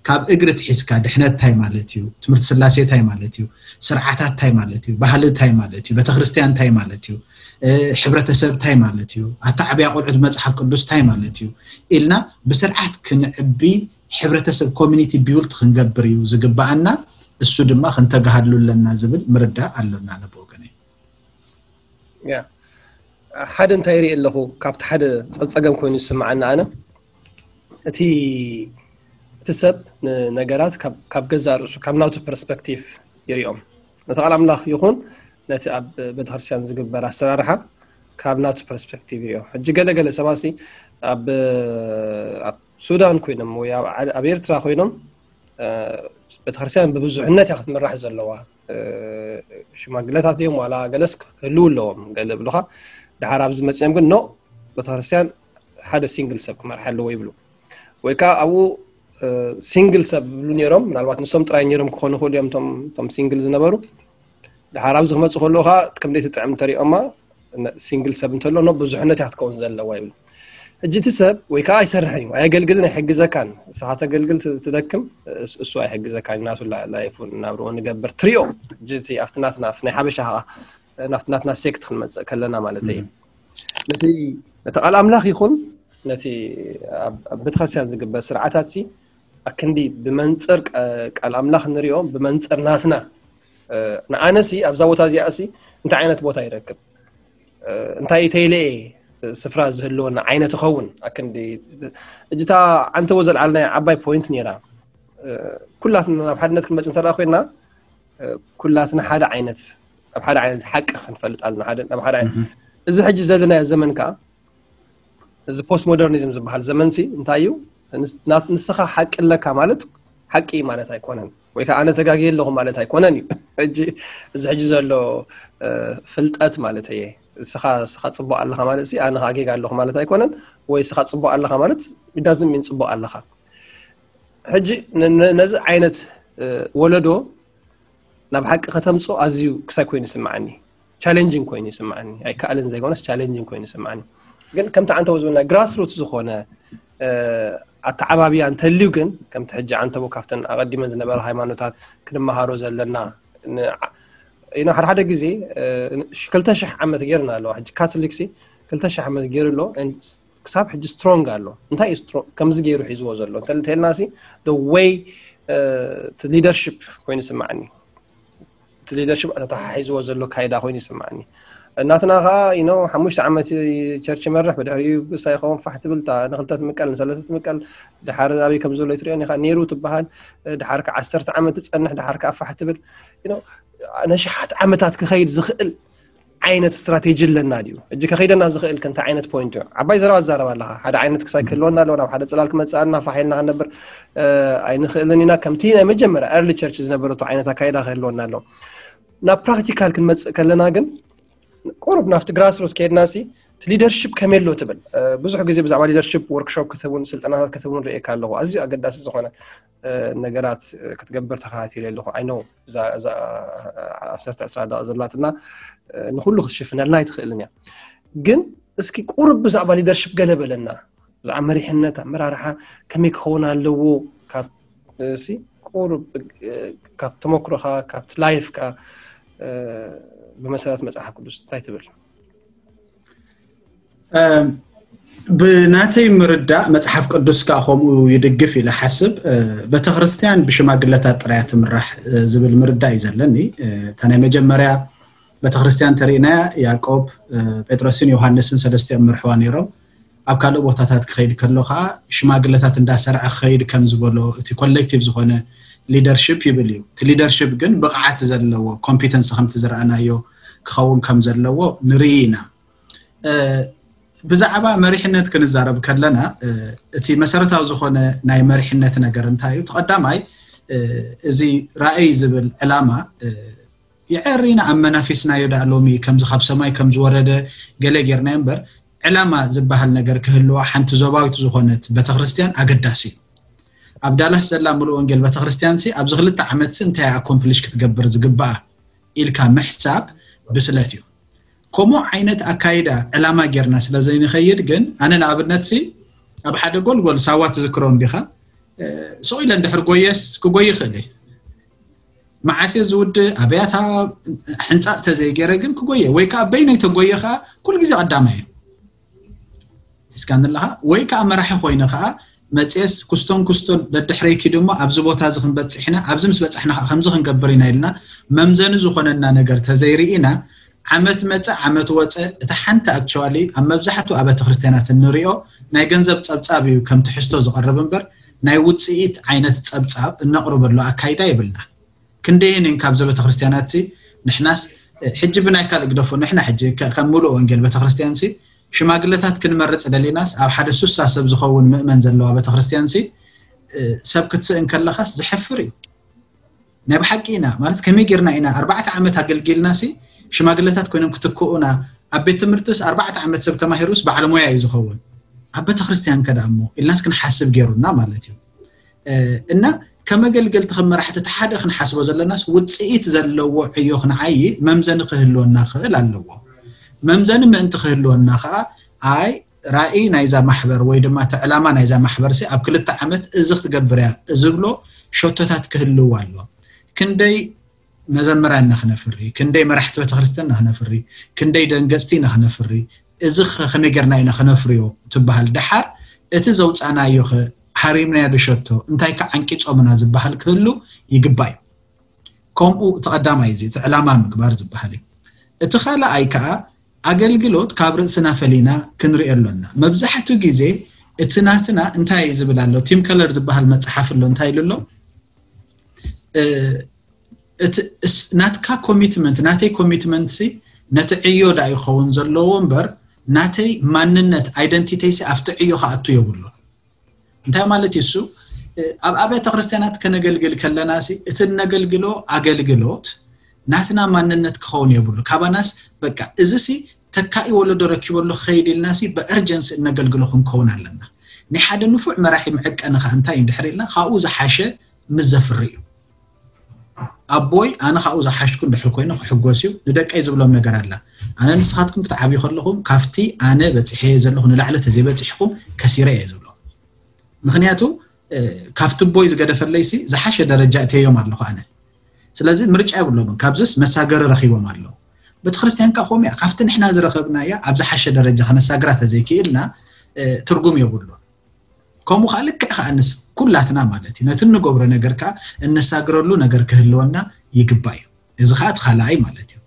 ካብ እግሪ ትሒዝካ ድሕነት እንታይ ማለት እዩ? ትምህርቲ ስላሴ እንታይ ማለት እዩ? ስርዓታት እንታይ ማለት እዩ? ባህሊ እንታይ ማለት እዩ? ቤተክርስትያን እንታይ ማለት እዩ? ሕብረተሰብ እንታይ ማለት እዩ? ኣተዓብያ ቆልዑት መፅሓፍ ቅዱስ እንታይ ማለት እዩ? ኢልና ብስርዓት ክንዕቢ ሕብረተሰብ ኮሚኒቲ ቢውልት ክንገብር እዩ ዝግባኣና። እሱ ድማ ክንተጋሃድሉ ኣለና ዝብል ምርዳእ ኣሎና ኣነ ብወገነይ። ሓደ እንታይ ርኢ ኣለኹ ካብቲ ሓደ ፀፀገም ኮይኑ ዝስምዓና ኣነ እቲ እቲ ሰብ ንነገራት ካብ ገዛ ርእሱ ካብ ናቱ ፐርስፐክቲቭ ይሪኦም። ነቲ ቃል ኣምላኽ ይኹን ነቲ ኣብ ቤተክርስትያን ዝግበር ኣሰራርሓ ካብ ናቱ ፐርስፐክቲቭ ይሪኦ። ሕጂ ገለገለ ሰባት ኣብ ኣብ ሱዳን ኮይኖም ወይ ኣብ ኤርትራ ኮይኖም ቤተክርስትያን ብብዙሕነት እያ ክትምራሕ ዘለዋ። ሽማግለታት እዮም ዋላ ገለስ ክህልው ኣለዎም ገለ ብሉካ። ድሓር ኣብዚ መፅኦም ግን ኖ ቤተክርስትያን ሓደ ሲንግል ሰብ ክመርሓ ኣለዎ ይብሉ። ወይ ከዓ ኣብኡ ሲንግል ሰብ ይብሉ ነይሮም። ምናልባት ንሶም ጥራይ ነይሮም ክኾኑ ይኽእሉ እዮም እቶም ሲንግል ዝነበሩ። ድሓር ኣብዚ ክመፁ ከለዉ ከዓ ክንደይ ትጥዕም እንተሪኦማ ሲንግል ሰብ እንተሎ ኖ ብዙሕነት እያ ክትከውን ዘለዋ ይብሉ። ሕጂ እቲ ሰብ ወይ ከዓ ኣይሰርሕን እዩ ኣየገልግልን ኣይሕግዘካን። ንስኻ ተገልግል ትደክም እሱ ኣይሕግዘካን ናቱ ላይፉ ናብርኡ ንገብር ትሪኦ። ሕጂ ኣብቲ ናትና ናይ ሓበሻ ከዓ ናብቲ ናትና ሴክት ክንመፅእ ከለና ማለት እዩ። ነቲ ቃል ኣምላኽ ይኹን ነቲ ኣብ ቤተክርስትያን ዝግበር ስርዓታት ሲ ኣክንዲ ብመንፅር ቃል ኣምላኽ ንሪኦ ብመንፅር ናትና ንኣነሲ ኣብዛ ቦታ እዚኣ ሲ እንታይ ዓይነት ቦታ ይረክብ እንታይ ተይለየ ስፍራ ዝህልወና ዓይነት ይኸውን ኣክንዲ እጅታ ዓንተቦ ዘልዓልናይ ዓባይ ፖይንት ነራ ኩላትና ናብ ሓድነት ክንመፅ እንተላ ኮይና ኩላትና ሓደ ዓይነት ኣብ ሓደ ዓይነት ሓቂ ክንፈልጥ ኣለና ሓደ ናብ ሓደ ዓይነት እዚ ሕጂ ዘለናዮ ዘመን ከዓ እዚ ፖስት ሞደርኒዝም ዝበሃል ዘመን ሲ እንታይ እዩ ንስኻ ሓቂ ኣለካ ማለት ሓቂ ማለት ኣይኮነን ወይ ከዓ ኣነ ተጋግየ ኣለኹ ማለት ኣይኮነን እዩ ሕጂ እዚ ሕጂ ዘሎ ፍልጠት ማለት እየ እስኻ እስኻ ፅቡቅ ኣለኻ ማለት ሲ ኣነ ከዓ ጌጋ ኣለኹ ማለት ኣይኮነን ወይ እስኻ ፅቡቅ ኣለኻ ማለት ዳዝም ሚን ፅቡቅ ኣለኻ ሕጂ ነዚ ዓይነት ወለዶ ናብ ሓቂ ከተምፅኦ ኣዝዩ ክሳይ ኮይኑ ይስምዓኒ ቻሌንጂን ኮይኑ ይስምዓኒ ኣይከኣልን ዘይኮነስ ቻሌንጂን ኮይኑ ይስምዓኒ ግን ከምቲ ዓንተቦ ዝብልና ግራስሩት ዝኾነ ኣተዓባብያ እንተልዩ ግን ከምቲ ሕጂ ዓንተቦ ካብተን ኣቐዲመን ዝነበረ ሃይማኖታት ክንመሃሮ ዘለና ሓደ ሓደ ግዜ ክልተ ሽሕ ዓመት ገይርና ኣለዋ ሕጂ ካቶሊክሲ ክልተ ሽሕ ዓመት ገይሩ ኣሎ ክሳብ ሕጂ ስትሮንግ ኣሎ እንታይ እዩ ከምዚ ገይሩ ሒዝዎ ዘሎ እንተልተልና ሲ ወይ ሊደርሽፕ ኮይኑ ይስምዓኒ እቲ ሊደርሽፕ ተተሓሒዝዎ ዘሎ ካይዳ ኮይኑ ይስምዓኒ እናትና ከዓ ኢኖ ሓሙሽተ ዓመት ቸርች መርሕ ብድሕሪኡ ሳይኸውን ፋሕ ትብል ንክልተ ትምቀል ንሰለስተ ትምቀል ድሓር ኣበይ ከም ዘሎ ይትሪኦ ኢኻ ነይሩ ትበሃል ድሓር ከዓ ዓሰርተ ዓመት ትፀንሕ ድሓር ከዓ ፋሕ ትብል ነሽሓት ዓመታት ክኸይድ ዝኽእል ዓይነት ስትራቴጂ ኣለና ድዩ እጂ ከኸይደና ዝኽእል ከንታ ዓይነት ፖይንት እዩ ዓባይ ዘረባ ዝዛረብ ኣለኻ ሓደ ዓይነት ክሳይ ክህልወና ኣለዎ ናብ ሓደ ፅላል ክመፅኣና ፋሒልና ክንነብር ኣይንኽእልን ኢና ከምቲ ናይ መጀመርያ ኤርሊ ቸርች ዝነበረቱ ዓይነት ኣካይዳ ክህልወና ኣለዎ ናብ ፕራክቲካል ክንመፅእ ከለና ግን ቁሩብ ናብቲ ግራስሩት ከድና ሲ ሊደርሽፕ ከመይ ኣሎ ትብል ብዙሕ ግዜ ብዛዕባ ሊደርሽፕ ወርክሾፕ ክትህቡን ስልጠናታት ክትህቡን ርእየካ ኣለኹ ኣዝዩ ኣገዳሲ ዝኾነ ነገራት ክትገብር ተኸታቲለ ኣለኹ ኣይ ነው እዛ ዓሰርተ ዕስራ ደቂ ዘላትና ንኩሉ ክትሽፍነልና ኣይትኽእልን እያ ግን እስኪ ቁሩብ ብዛዕባ ሊደርሽፕ ገለ በለና ብዛዕባ መሪሕነት ኣመራርሓ ከመይ ክኸውን ኣለዎ ካብ ቁሩብ ካብ ተመክሮኻ ካብቲ ላይፍካ ብመሰረት መፅሓፍ ቅዱስ እንታይ ትብል ብናተይ ምርዳእ መፅሓፍ ቅዱስ ከዓ ከምኡ ይድግፍ ኢለ ሓስብ ቤተክርስትያን ብሽማግለታት ጥራያ ትምራሕ ዝብል ምርዳእ እዩ ዘለኒ እታ ናይ መጀመርያ ቤተክርስትያን ተሪእናያ ያዕቆብ ጴጥሮስን ዮሃንስን ሰለስቲኦም መርሕዋ ነይሮም ኣብ ካልእ ቦታታት ክኸይድ ከሎ ከዓ ሽማግለታት እንዳሰርዐ ክኸይድ ከም ዝበሎ እቲ ኮሌክቲቭ ዝኾነ ሊደርሽፕ ይብል እዩ እቲ ሊደርሽፕ ግን ብቕዓት ዘለዎ ኮምፒተንስ ከምቲ ዝረኣናዮ ክኸውን ከም ዘለዎ ንርኢ ኢና ብዛዕባ መሪሕነት ክንዛረብ ከለና እቲ መሰረታዊ ዝኾነ ናይ መሪሕነት ነገር እንታይ እዩ ተቐዳማይ እዚ ራእይ ዝብል ዕላማ ይዐሪና ኣብ መናፊስናዮ ዳኣ ሎሚ ከምዚ ካብ ሰማይ ከም ዝወረደ ገለ ጌርና እምበር ዕላማ ዝበሃል ነገር ክህልዋ ሓንቲ ዞባዊት ዝኾነት ቤተክርስትያን ኣገዳሲ እዩ ኣብ ዳላስ ዘላ ምሉእ ወንጌል ቤተክርስትያን ሲ ኣብዚ ክልተ ዓመት ሲ እንታይ ኣኮምፕሊሽ ክትገብር ዝግባኣ ኢልካ ምሕሳብ ብስለት እዩ ከምኡ ዓይነት ኣካይዳ ዕላማ ጌርና ስለ ዘይንኸይድ ግን ኣነ ንኣብነት ሲ ኣብ ሓደ ጎልጎል ሳዋ ትዝክሮ እንዲኻ ስቕ ኢለ እንድሕር ጎየስ ክጎይ ይኽእል እዩ መዓስ እየ ዝውድእ ኣበያታ ሕንፃፅ ተዘይገይረ ግን ክጎየ ወይ ከዓ በይነይ ተጎየ ከዓ ኩሉ ግዜ ቀዳማይ እዩ ሒዝካኒ ኣለኻ ወይ ከዓ መራሒ ኮይነ ከዓ መፅየስ ኩስቶን ኩስቶን ደድሕረይ ኪዱ እሞ ኣብዚ ቦታ እዚ ክንበፅሕ ኢና ኣብዚ ምስ በፃሕና ከዓ ከምዚ ክንገብር ኢና ኢልና መምዘኒ ዝኾነና ነገር ተዘይርኢና ዓመት መፀ ዓመት ወፀ እቲ ሓንቲ ኣክቸዋሊ ኣብ መብዛሕትኡ ኣበተ ክርስትያናት እንሪኦ ናይ ገንዘብ ፀብፃብ እዩ ከም ትሕዝቶ ዝቐርብ እምበር ናይ ውፅኢት ዓይነት ፀብፃብ እነቕርበሉ ኣካይዳ የብልና ክንደየን እየን ካብዚ ቤተክርስትያናት ሲ ንሕናስ ሕጂ ብናይ ካልእ ግደፎ ንሕና ሕጂ ከም ሙሉእ ወንጌል ቤተክርስትያን ሲ ሽማግለታት ክንመርፅ ደሊናስ ኣብ ሓደ ሱሳ ሰብ ዝኸውን ምእመን ዘለዋ ቤተክርስትያን ሲ ሰብ ክትስእን ከለኻስ ዝሕፍር እዩ ናይ ብሓቂ ኢና ማለት ከመይ ጌርና ኢና ኣርባዕተ ዓመት ኣገልጊልና ሲ ሽማግለታት ኮይኖም ክትክኡና ኣብ ቤት ትምህርትስ ኣርባዕተ ዓመት ሰብ ተማሂሩስ በዓል ሞያ እዩ ዝኸውን ኣብ ቤተክርስትያን ከዳሞ ኢልናስ ክንሓስብ ገይሩና ማለት እዩ እና ከመገልገልቲ ከም መራሕቲ እቲ ሓደ ክንሓስቦ ዘለናስ ውፅኢት ዘለዎ ዕዮ ክንዓይ መምዘኒ ክህልወና ክእል ኣለዎ መምዘኒ ምእንቲ ክህልወና ከዓ ኣይ ራእይ ናይዛ ማሕበር ወይ ድማ እቲ ዕላማ ናይዛ ማሕበር ሲ ኣብ ክልተ ዓመት እዚ ክትገብር እያ ዝብሎ ሸቶታት ክህልው ኣሎ ክንደይ መዘምራን ነኽነፍሪ ክንደይ መራሕቲ ቤተክርስትያን ነኽነፍሪ ክንደይ ደንገፅቲ ነኽነፍሪ እዚ ከ ከመይ ጌርና ኢና ከነፍርዮ ትበሃል። ደሓር እቲ ዘውፃናዮ ከ ሃሪምናዮ ዶ ሸቶ፣ እንታይ ከ ዓንቂፆምና ዝበሃል ክህሉ ይግባእ እዩ። ከምኡ እቲ ቀዳማይ እዚ እቲ ዕላማ ምግባር ዝበሃል እዩ። እቲ ካልኣይ ከዓ ኣገልግሎት ካብ ርእስና ፈሊና ክንሪኦ ኣሎና። መብዛሕትኡ ግዜ እቲ ናትና እንታይ እዩ ዝብል ኣሎ፣ ቲም ከለር ዝበሃል መፅሓፍ ኣሎ፣ እንታይ ኢሉ ኣሎ? እ፣ እቲ እስ- ናትካ ኮሚትመንት፣ ናተይ ኮሚትመንት ሲ ነቲ ዕዮ ዳ ይኸውን ዘለዎ እምበር ናተይ ማንነት፣ ኣይደንቲተይ ሲ ኣብቲ ዕዮ ክኣቱ የብሉ። እንታይ ማለት እዩ እሱ? እ፣ ኣብ ኣብያተ ክርስቲያናት ከነገልግል ከለና ሲ እቲ እነገልግሎ ኣገልግሎት ናትና ማንነት ክኸውን የብሉ። ካባናስ በቃ እዚ ሲ ተካኢ ወለዶ ረኪበሉ ክኸይድ ኢልና ሲ ብእርጀንሲ እነገልግሎ ክንከውን ኣለና። ናይ ሓደ ንፉዕ መራሒ መዐቀኒ ከዓ እንታይ እዩ እንድሕር ኢልና ካብኡ ዝሓሸ ምስ ዘፍሪ እዩ። ኣቦይ ኣነ ካብኡ ዝሓሽኩ እንድሕር ኮይኑ ክሕጎስ እዩ። ንደቀይ ዝብሎም ነገር ኣላ። ኣነ ንስኻትኩም ክትዓብዩ ከለኹም ካብቲ ኣነ በፂሐ ዘለኹ ንላዕሊ ተዘይበፂሕኩም ከሲረ እየ ዝብሎም። ምክንያቱ እ፣ ካብቲ ኣቦይ ዝገደፈለይ ሲ ዝሓሸ ደረጃ እትዮም ኣለኹ ኣነ። ስለዚ ምርጫ የብሎምን። ካብዚስ መሳገሪ ረኺቦም ኣለዉ። ቤተክርስትያን ከዓ ከምኡ እያ። ካብቲ ንሕና ዝረኸብናያ ኣብ ዝሓሸ ደረጃ ከነሳግራ ተዘይክኢልና እ፣ ትርጉም የብሉን። ከምኡ ከዓ ልክዕ ከዓ ንስ ኩላትና ማለት እዩ ነቲ እንገብሮ ነገር ከዓ እነሳግረሉ ነገር ክህልወና ይግባእ እዩ። እዚ ከዓ እቲ ካልኣይ ማለት እዩ።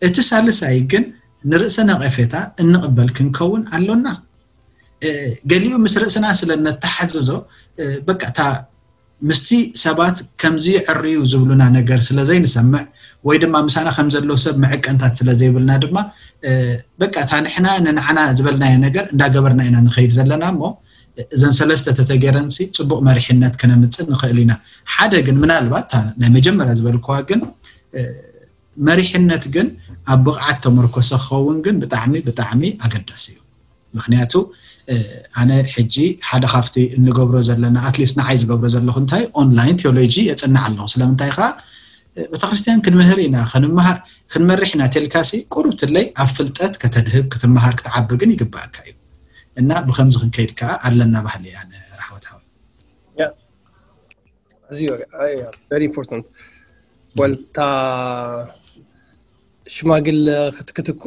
እቲ ሳልሳይ ግን ንርእሰ ነቐፌታ እንቕበል ክንከውን ኣሎና። እ፣ ገሊኡ ምስ ርእስና ስለ እነተሓዝዞ እ፣ በቃ እታ ምስቲ ሰባት ከምዚ ይዕርዩ ዝብሉና ነገር ስለ ዘይንሰምዕ ወይ ድማ ምሳና ከም ዘሎ ሰብ መዐቀንታት ስለ ዘይብልና ድማ እ፣ በቃ እታ ንሕና ንንዓና ዝበልናዮ ነገር እንዳገበርና ኢና ንኸይድ ዘለና እሞ እዘን ሰለስተ ተተገይረንሲ ፅቡቕ መሪሕነት ክነምፅእ ንኽእል ኢና። ሓደ ግን ምናልባት እታ ናይ መጀመርያ ዝበልክዋ ግን እ፣ መሪሕነት ግን ኣብ ብቕዓት ተመርኮሰ ክኸውን ግን ብጣዕሚ ብጣዕሚ ኣገዳሲ እዩ። ምክንያቱ እ፣ ኣነ ሕጂ ሓደ ካብቲ እንገብሮ ዘለና ኣትሊስት ንዓይ ዝገብሮ ዘለኹ እንታይ ኦንላይን ቴዎሎጂ የፅንዕ ኣለኹ። ስለምንታይ ከዓ እ፣ ቤተክርስትያን ክንምህር ኢና ክንመሃር ክንመርሕ ኢና ተልካሲ ቁሩብ ትለይ ኣብ ፍልጠት ከተድህብ ክትመሃር ክትዓቢ ግን ይግባእካ እዩ። እና ብከምዚ ክንከይድ ከዓ ኣለና ባህሊ ኣነ ራሕወት ሃወይ። እዚ very important ወልታ ሽማግለ ክትክትኩ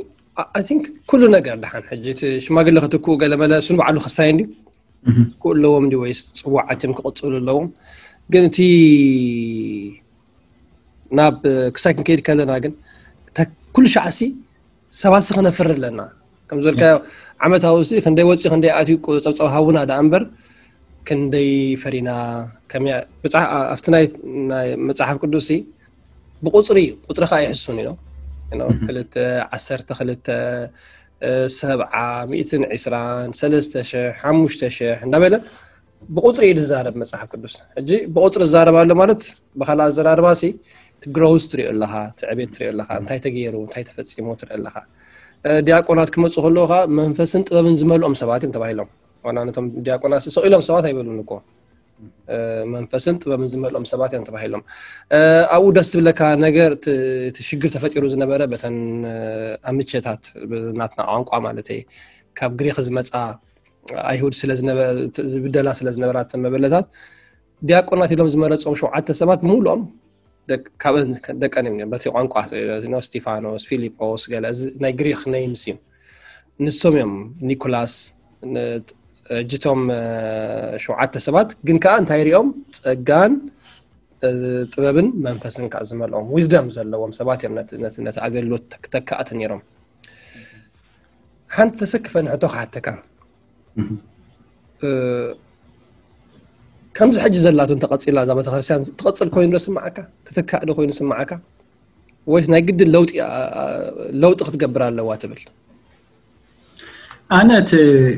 I think ኩሉ ነገር ደሓን ሕጂ እቲ ሽማግለ ክትክኡ ገለመለ እሱን ባዕሉ ክስታይ እንዲ ክኡ ኣለዎም እንዲ ወይስ ፅዋዓት እዮም ክቕፅሉ ኣለዎም? ግን እቲ ናብ ክስታይ ክንከይድ ከለና ግን ኩሉ ሻዕሲ ሰባት ሲ ክነፍሪ ኣለና ከም ዝበልካዮ ዓመታዊ ሲ ክንደይ ወፂ ክንደይ ኣትዩ ፀብፀብ ሃቡና ደኣ እምበር ክንደይ ፈሪና ከመይ ኣብቲ ናይ መፅሓፍ ቅዱስ ሲ ብቁፅሪ እዩ ቁፅሪ ከዓ ይሕሱን እዩ ክልተ ዓሰርተ ክልተ ሰብዓ ሚእትን ዕስራን ሰለስተ ሽሕ ሓሙሽተ ሽሕ እንዳበለ ብቁፅሪ እዩ ዝዛረብ መፅሓፍ ቅዱስ ሕጂ ብቁፅሪ ዝዛረብ ኣሎ ማለት ብካልእ ኣዘራርባ ሲ ትግሮውስ ትሪኦ ኣለካ ትዕቤት ትሪኦ ኣለካ እንታይ ተገይሩ እንታይ ተፈፂሙ ትርኢ ኣለካ ዲያቆናት ክመፁ ከለዉ ከዓ መንፈስን ጥበብን ዝመልኦም ሰባት እዮም ተባሂሎም ዋላ ነቶም ዲያቆናት ስቕ ኢሎም ሰባት ኣይበሉን እኮ መንፈስን ጥበብን ዝመልኦም ሰባት እዮም ተባሂሎም ኣብኡ ደስ ዝብለካ ነገር እቲ ሽግር ተፈጢሩ ዝነበረ በተን ኣምቸታት ናትና ቋንቋ ማለት ካብ ግሪክ ዝመፃ ኣይሁድ ዝብደላ ስለ ዝነበራ መበለታት ዲያቆናት ኢሎም ዝመረፆም ሸውዓተ ሰባት ብምሉኦም ካብአን ደቀን እዮም በቲ ቋንቋ ስቲፋኖስ ፊሊጶስ ገለ ናይ ግሪክ ነይምስ እዩ ንሶም እዮም ኒኮላስ እጅቶም ሸውዓተ ሰባት ግን ከዓ እንታይ ሪኦም ፀጋን ጥበብን መንፈስን ከዓ ዝመልኦም ዊዝደም ዘለዎም ሰባት እዮም ነቲ ኣገልግሎት ተካእቲ ነይሮም ሓንቲ ተሰክፈኒ ሕቶ ክሓተካ ከምዚ ሕጂ ዘላቱ እንተቐፂላ እዛ ቤተክርስትያን ትቐፅል ኮይኑ ዶ ስማዓካ ተተካእ ዶ ኮይኑ ስማዓካ ወይስ ናይ ግድን ለውጢ ለውጢ ክትገብር ኣለዋ ትብል ኣነ እቲ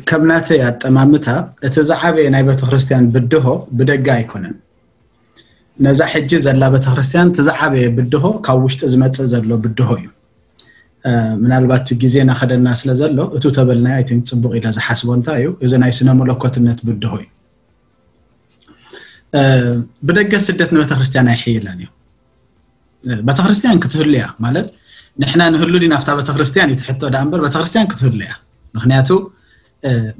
ከም ናተይ ኣጠማምታ እቲ ዝዓበየ ናይ ቤተክርስትያን ብድሆ ብደገ ኣይኮነን ነዛ ሕጂ ዘላ ቤተክርስትያን እቲ ዝዓበየ ብድሆ ካብ ውሽጢ ዝመፅእ ዘሎ ብድሆ እዩ ምናልባት ግዜ ናኸደና ስለ ዘሎ እቱ ተበልና ኣይትን ፅቡቅ ኢለ ዝሓስቦ እንታይ እዩ እዚ ናይ ስነ መለኮትነት ብድሆ እዩ ብደገ ስደት ንቤተክርስትያን ኣይሕይለን እዩ ቤተክርስትያን ክትህሉ እያ ማለት ንሕና ንህሉ ዲና ኣብታ ቤተክርስትያን እዩ ትሕቶ ዳ እምበር ቤተክርስትያን ክትህሉ እያ ምክንያቱ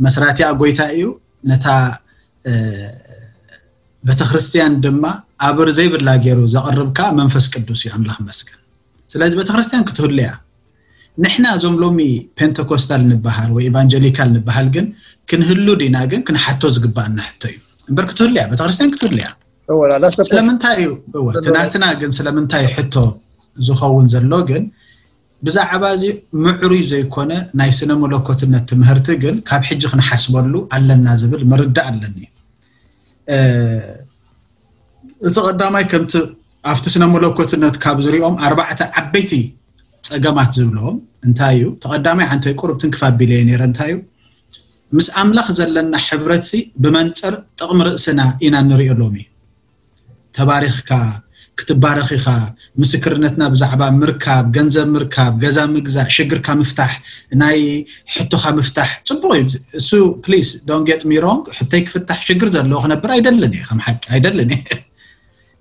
መስራቲያ ጎይታ እዩ ነታ ቤተክርስትያን ድማ ኣብር ዘይብላ ገይሩ ዘቕርብካ መንፈስ ቅዱስ እዩ ኣምላኽ መስገን ስለዚ ቤተክርስትያን ክትህሉ እያ ንሕና እዞም ሎሚ ፔንተኮስታል ንበሃል ወይ ኢቫንጀሊካል ንበሃል ግን ክንህሉ ዲና ግን ክንሓቶ ዝግባኣና ሕቶ እዩ። እምበር ክትህሉ እያ፣ ቤተክርስትያን ክትህሉ እያ። ስለምንታይ እዩ እቲ ናትና ግን ስለምንታይ ሕቶ ዝኸውን ዘሎ ግን ብዛዕባ እዚ ምዕሩይ ዘይኮነ ናይ ስነ መለኮትነት ትምህርቲ ግን ካብ ሕጂ ክንሓስበሉ ኣለና ዝብል ምርዳእ ኣለኒ። እቲ ቀዳማይ ከምቲ ኣብቲ ስነ መለኮትነት ካብ ዝሪኦም ኣርባዕተ ዓበይቲ ፀገማት ዝብሎም እንታይ እዩ? ተቐዳማይ ዓንተይ ቁሩብ ትንክፍ ኣቢለየ ነይረ እንታይ እዩ? ምስ ኣምላኽ ዘለና ሕብረትሲ ብመንፅር ጥቕሚ ርእስና ኢና ንሪኦ ሎሚ። ተባሪኽካ ክትባረኽ ኢኻ። ምስክርነትና ብዛዕባ ምርካብ፣ ገንዘብ ምርካብ፣ ገዛ ምግዛእ፣ ሽግርካ ምፍታሕ፣ ናይ ሕቶኻ ምፍታሕ ፅቡቕ እዩ። እሱ please don't get me wrong፣ ሕቶይ ክፍታሕ ሽግር ዘለዎ ክነብር ኣይደልን እየ። ከም ሓቂ ኣይደልን እየ።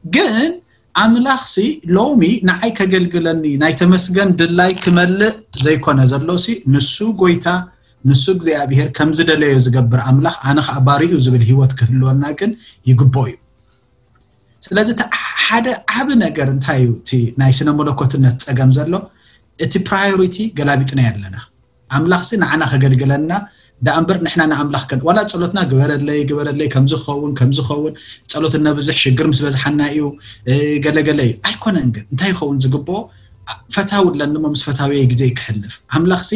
ግን ኣምላኽሲ ሎሚ ንዓይ ከገልግለኒ ናይ ተመስገን ድላይ ክመልእ ዘይኮነ ዘሎሲ ንሱ ጎይታ ንሱ እግዚኣብሔር ከም ዝደለዮ ዝገብር ኣምላኽ ኣነ ኸዓ ባሪኡ ዝብል ህይወት ክህልወና ግን ይግቦ እዩ። ስለዚ ሓደ ዓቢ ነገር እንታይ እዩ እቲ ናይ ስነ መለኮትነት ጸገም ዘሎ? እቲ ፕራዮሪቲ ገላቢጥና ኣለና። ኣምላኽሲ ንዓና ከገልግለና ደኣ እምበር ንሕና ንኣምላኽ ከን ዋላ ጸሎትና ግበረለይ ግበረለይ ከምዚ ክኸውን ከምዚ ክኸውን ጸሎት እነብዝሕ ሽግር ምስ በዝሓና እዩ ገለገለ እዩ ኣይኮነን። ግን እንታይ ይኸውን ዝግብኦ? ፈታዊ ኣለኒ እሞ ምስ ፈታውየ ግዜ ክሕልፍ ኣምላኽሲ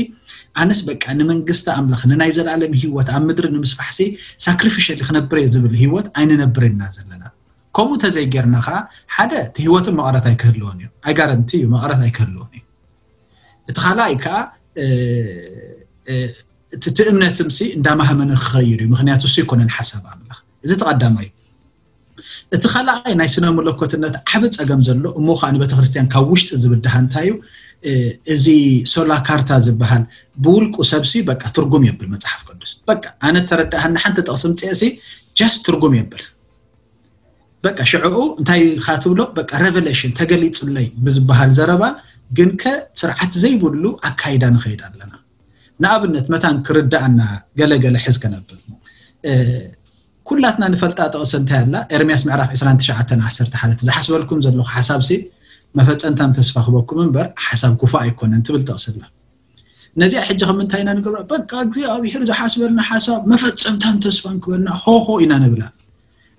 ኣነስ በቃ ንመንግስቲ ኣምላኽ ንናይ ዘላለም ህይወት ኣብ ምድሪ ንምስፋሕሲ ሳክሪፊሸሊ ክነብር እየ ዝብል ህይወት ኣይንነብር ኢና ዘለና። ከምኡ ተዘይጌርና ከዓ ሓደ እቲ ህይወትን መቐረት ኣይክህልዎን እዩ። ኣይጋረንቲ እዩ መቐረት ኣይክህልዎን እዩ። እቲ ካልኣይ ከዓ እቲ እምነትምሲ እንዳማህመነ ክኸይድ እዩ። ምክንያቱ እሱ ይኮነን ሓሳብ ኣምላኽ። እዚ ተቐዳማይ እዩ። እቲ ካልኣይ ናይ ስነ መለኮትነት ዓቢ ጸገም ዘሎ እሞ ከዓ ንቤተ ክርስቲያን ካብ ውሽጢ ዝብድሃ እንታይ እዩ? እዚ ሶላ ካርታ ዝበሃል ብውልቁ ሰብሲ በቃ ትርጉም የብል መጽሓፍ ቅዱስ። በቃ ኣነ ተረዳሃኒ ሓንቲ ጥቕሲ ምጽኤሲ ጀስት ትርጉም የብል። በቃ ሽዕኡ እንታይ ኢኻ ትብሎ? በቃ ሬቨሌሽን ተገሊጹለይ ብዝበሃል ዘረባ ግንከ ስርዓት ዘይብሉ ኣካይዳ ንኸይድ ኣለና። ንኣብነት መታን ክርዳኣና ገለገለ ሕዝ ከነብል ኩላትና ንፈልጣ ጥቕሲ እንታይ ኣላ? ኤርምያስ ምዕራፍ ዕስራን ትሽዓተን ዓሰርተ ሓደ ዝሓስበልኩም ዘለኹ ሓሳብሲ መፈጸምታን ተስፋ ክበኩም እምበር ሓሳብ ክፉእ ኣይኮነን ትብል ጥቕሲ ኣላ። ነዚኣ ሕጂ ከም እንታይ ኢና ንገብራ? በቃ እግዚኣብሔር ዝሓስበልና ሓሳብ መፈጸምታን ተስፋን ክበና ሆሆ ኢና ንብላ።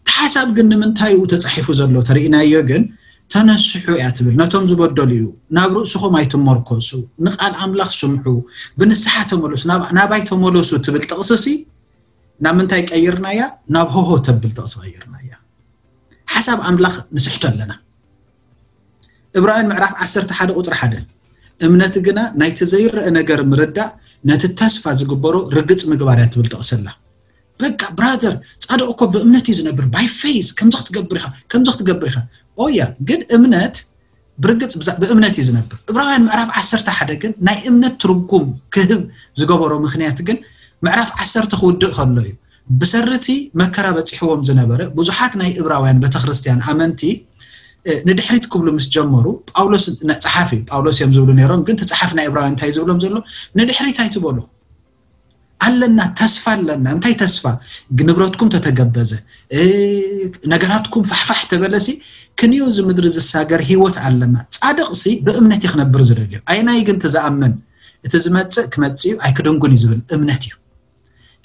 እቲ ሓሳብ ግን ንምንታይ እዩ ተጻሒፉ ዘሎ ተርእናዮ ግን ተነስሑ እያ ትብል። ነቶም ዝበደሉ እዩ ናብ ርእስኹም ኣይትመርኮሱ፣ ንቃል ኣምላኽ ስምዑ፣ ብንስሓ ተመለሱ፣ ናባይ ተመለሱ ትብል ጥቕስሲ ናብ ምንታይ ቀይርናያ? ናብ ሆሆ ተብል ጥቕሲ ቀይርናያ። ሓሳብ ኣምላኽ ንስሕቶ ኣለና። እብራውያን ምዕራፍ ዓሰርተ ሓደ ቁፅሪ ሓደ እምነት ግና ናይቲ ዘይረአ ነገር ምርዳእ ነቲ ተስፋ ዝግበሮ ርግፅ ምግባር እያ ትብል ጥቕሲ ኣላ። በቃ ብራደር ፃድቕ እኮ ብእምነት እዩ ዝነብር። By faith ከምዚ ክትገብር ኢኻ ከምዚ ክትገብር ኢኻ። ኦያ ግን እምነት ብርግፅ ብእምነት እዩ ዝነብር። እብራውያን ምዕራፍ ዓሰርተ ሓደ ግን ናይ እምነት ትርጉም ክህብ ዝገበሮ ምክንያት ግን ምዕራፍ ዓሰርተ ክውድእ ከሎ እዩ። ብሰሪ እቲ መከራ በፂሕዎም ዝነበረ ብዙሓት ናይ እብራውያን ቤተክርስትያን ኣመንቲ ንድሕሪት ክብሉ ምስ ጀመሩ ጳውሎስ ጸሓፊ ጳውሎስ እዮም ዝብሉ ነይሮም። ግን እቲ ጸሓፊ ናይ እብራውያን እንታይ ዝብሎም ዘሎ? ንድሕሪት ኣይትበሉ ኣለና ተስፋ ኣለና። እንታይ ተስፋ? ንብረትኩም ተተገበዘ ነገራትኩም ፋሕፋሕ ተበለሲ ክንዮ እዚ ምድሪ ዝሳገር ህይወት ኣለና። ጻድቕሲ ብእምነት እዩ ክነብር ዝደልዮ። ኣይናይ ግን እቲ ዝኣምን እቲ ዝመጽእ ክመጽእ እዩ ኣይክደንጉን እዩ ዝብል እምነት እዩ።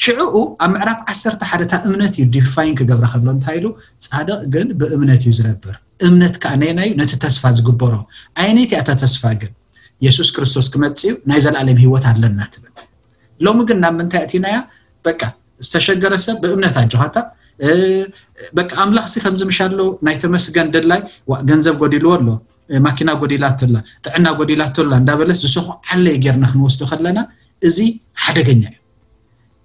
ሽዕኡ ኣብ ምዕራፍ ዓሰርተ ሓደ እታ እምነት እዩ ዲፋይን ክገብራ ከሎ እንታይ ኢሉ? ጻድቕ ግን ብእምነት እዩ ዝነብር። እምነት ከዓ ነየናይ እዩ? ነቲ ተስፋ ዝግበሮ። ኣየነይቲ እያ እታ ተስፋ ግን? የሱስ ክርስቶስ ክመጽእ እዩ ናይ ዘለኣለም ህይወት ኣለና ትብል። ሎሚ ግን ናብ ምንታይ ኣእቲናያ? በቃ ዝተሸገረ ሰብ ብእምነት ኣጆኻታ በቃ ኣምላኽ ሲ ከምዚ ምሻሎ ናይ ተመስገን ድላይ ገንዘብ ጎዲልዎ ኣሎ፣ ማኪና ጎዲላቶ ኣላ፣ ጥዕና ጎዲላቶ ኣላ እንዳበለስ ዝሰኹዓለይ ጌርና ክንወስዶ ከለና እዚ ሓደገኛ እዩ።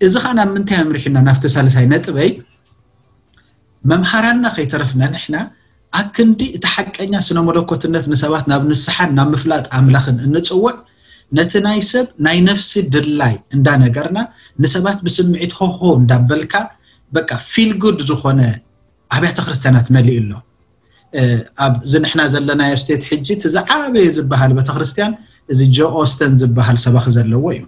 እዚ ኸዓ ናብ ምንታይ ኣምሪሑና? ናብቲ ሳልሳይ ነጥበይ መምሃራንና ከይተረፍና ንሕና ኣክንዲ እቲ ሓቀኛ ስነ መለኮትነት ንሰባት ናብ ንስሓን ናብ ምፍላጥ ኣምላኽን እንጽውዕ ነቲ ናይ ሰብ ናይ ነፍሲ ድላይ እንዳነገርና ንሰባት ብስምዒት ሆሆ እንዳበልካ በቃ ፊል ጉድ ዝኾነ ኣብያተ ክርስትያናት መሊኡ ኣሎ። ኣብዚ ንሕና ዘለናዮ ስቴት ሕጂ እቲ ዝዓበየ ዝበሃል ቤተክርስትያን እዚ ጆ ኦስተን ዝበሃል ሰባኺ ዘለዎ እዩ።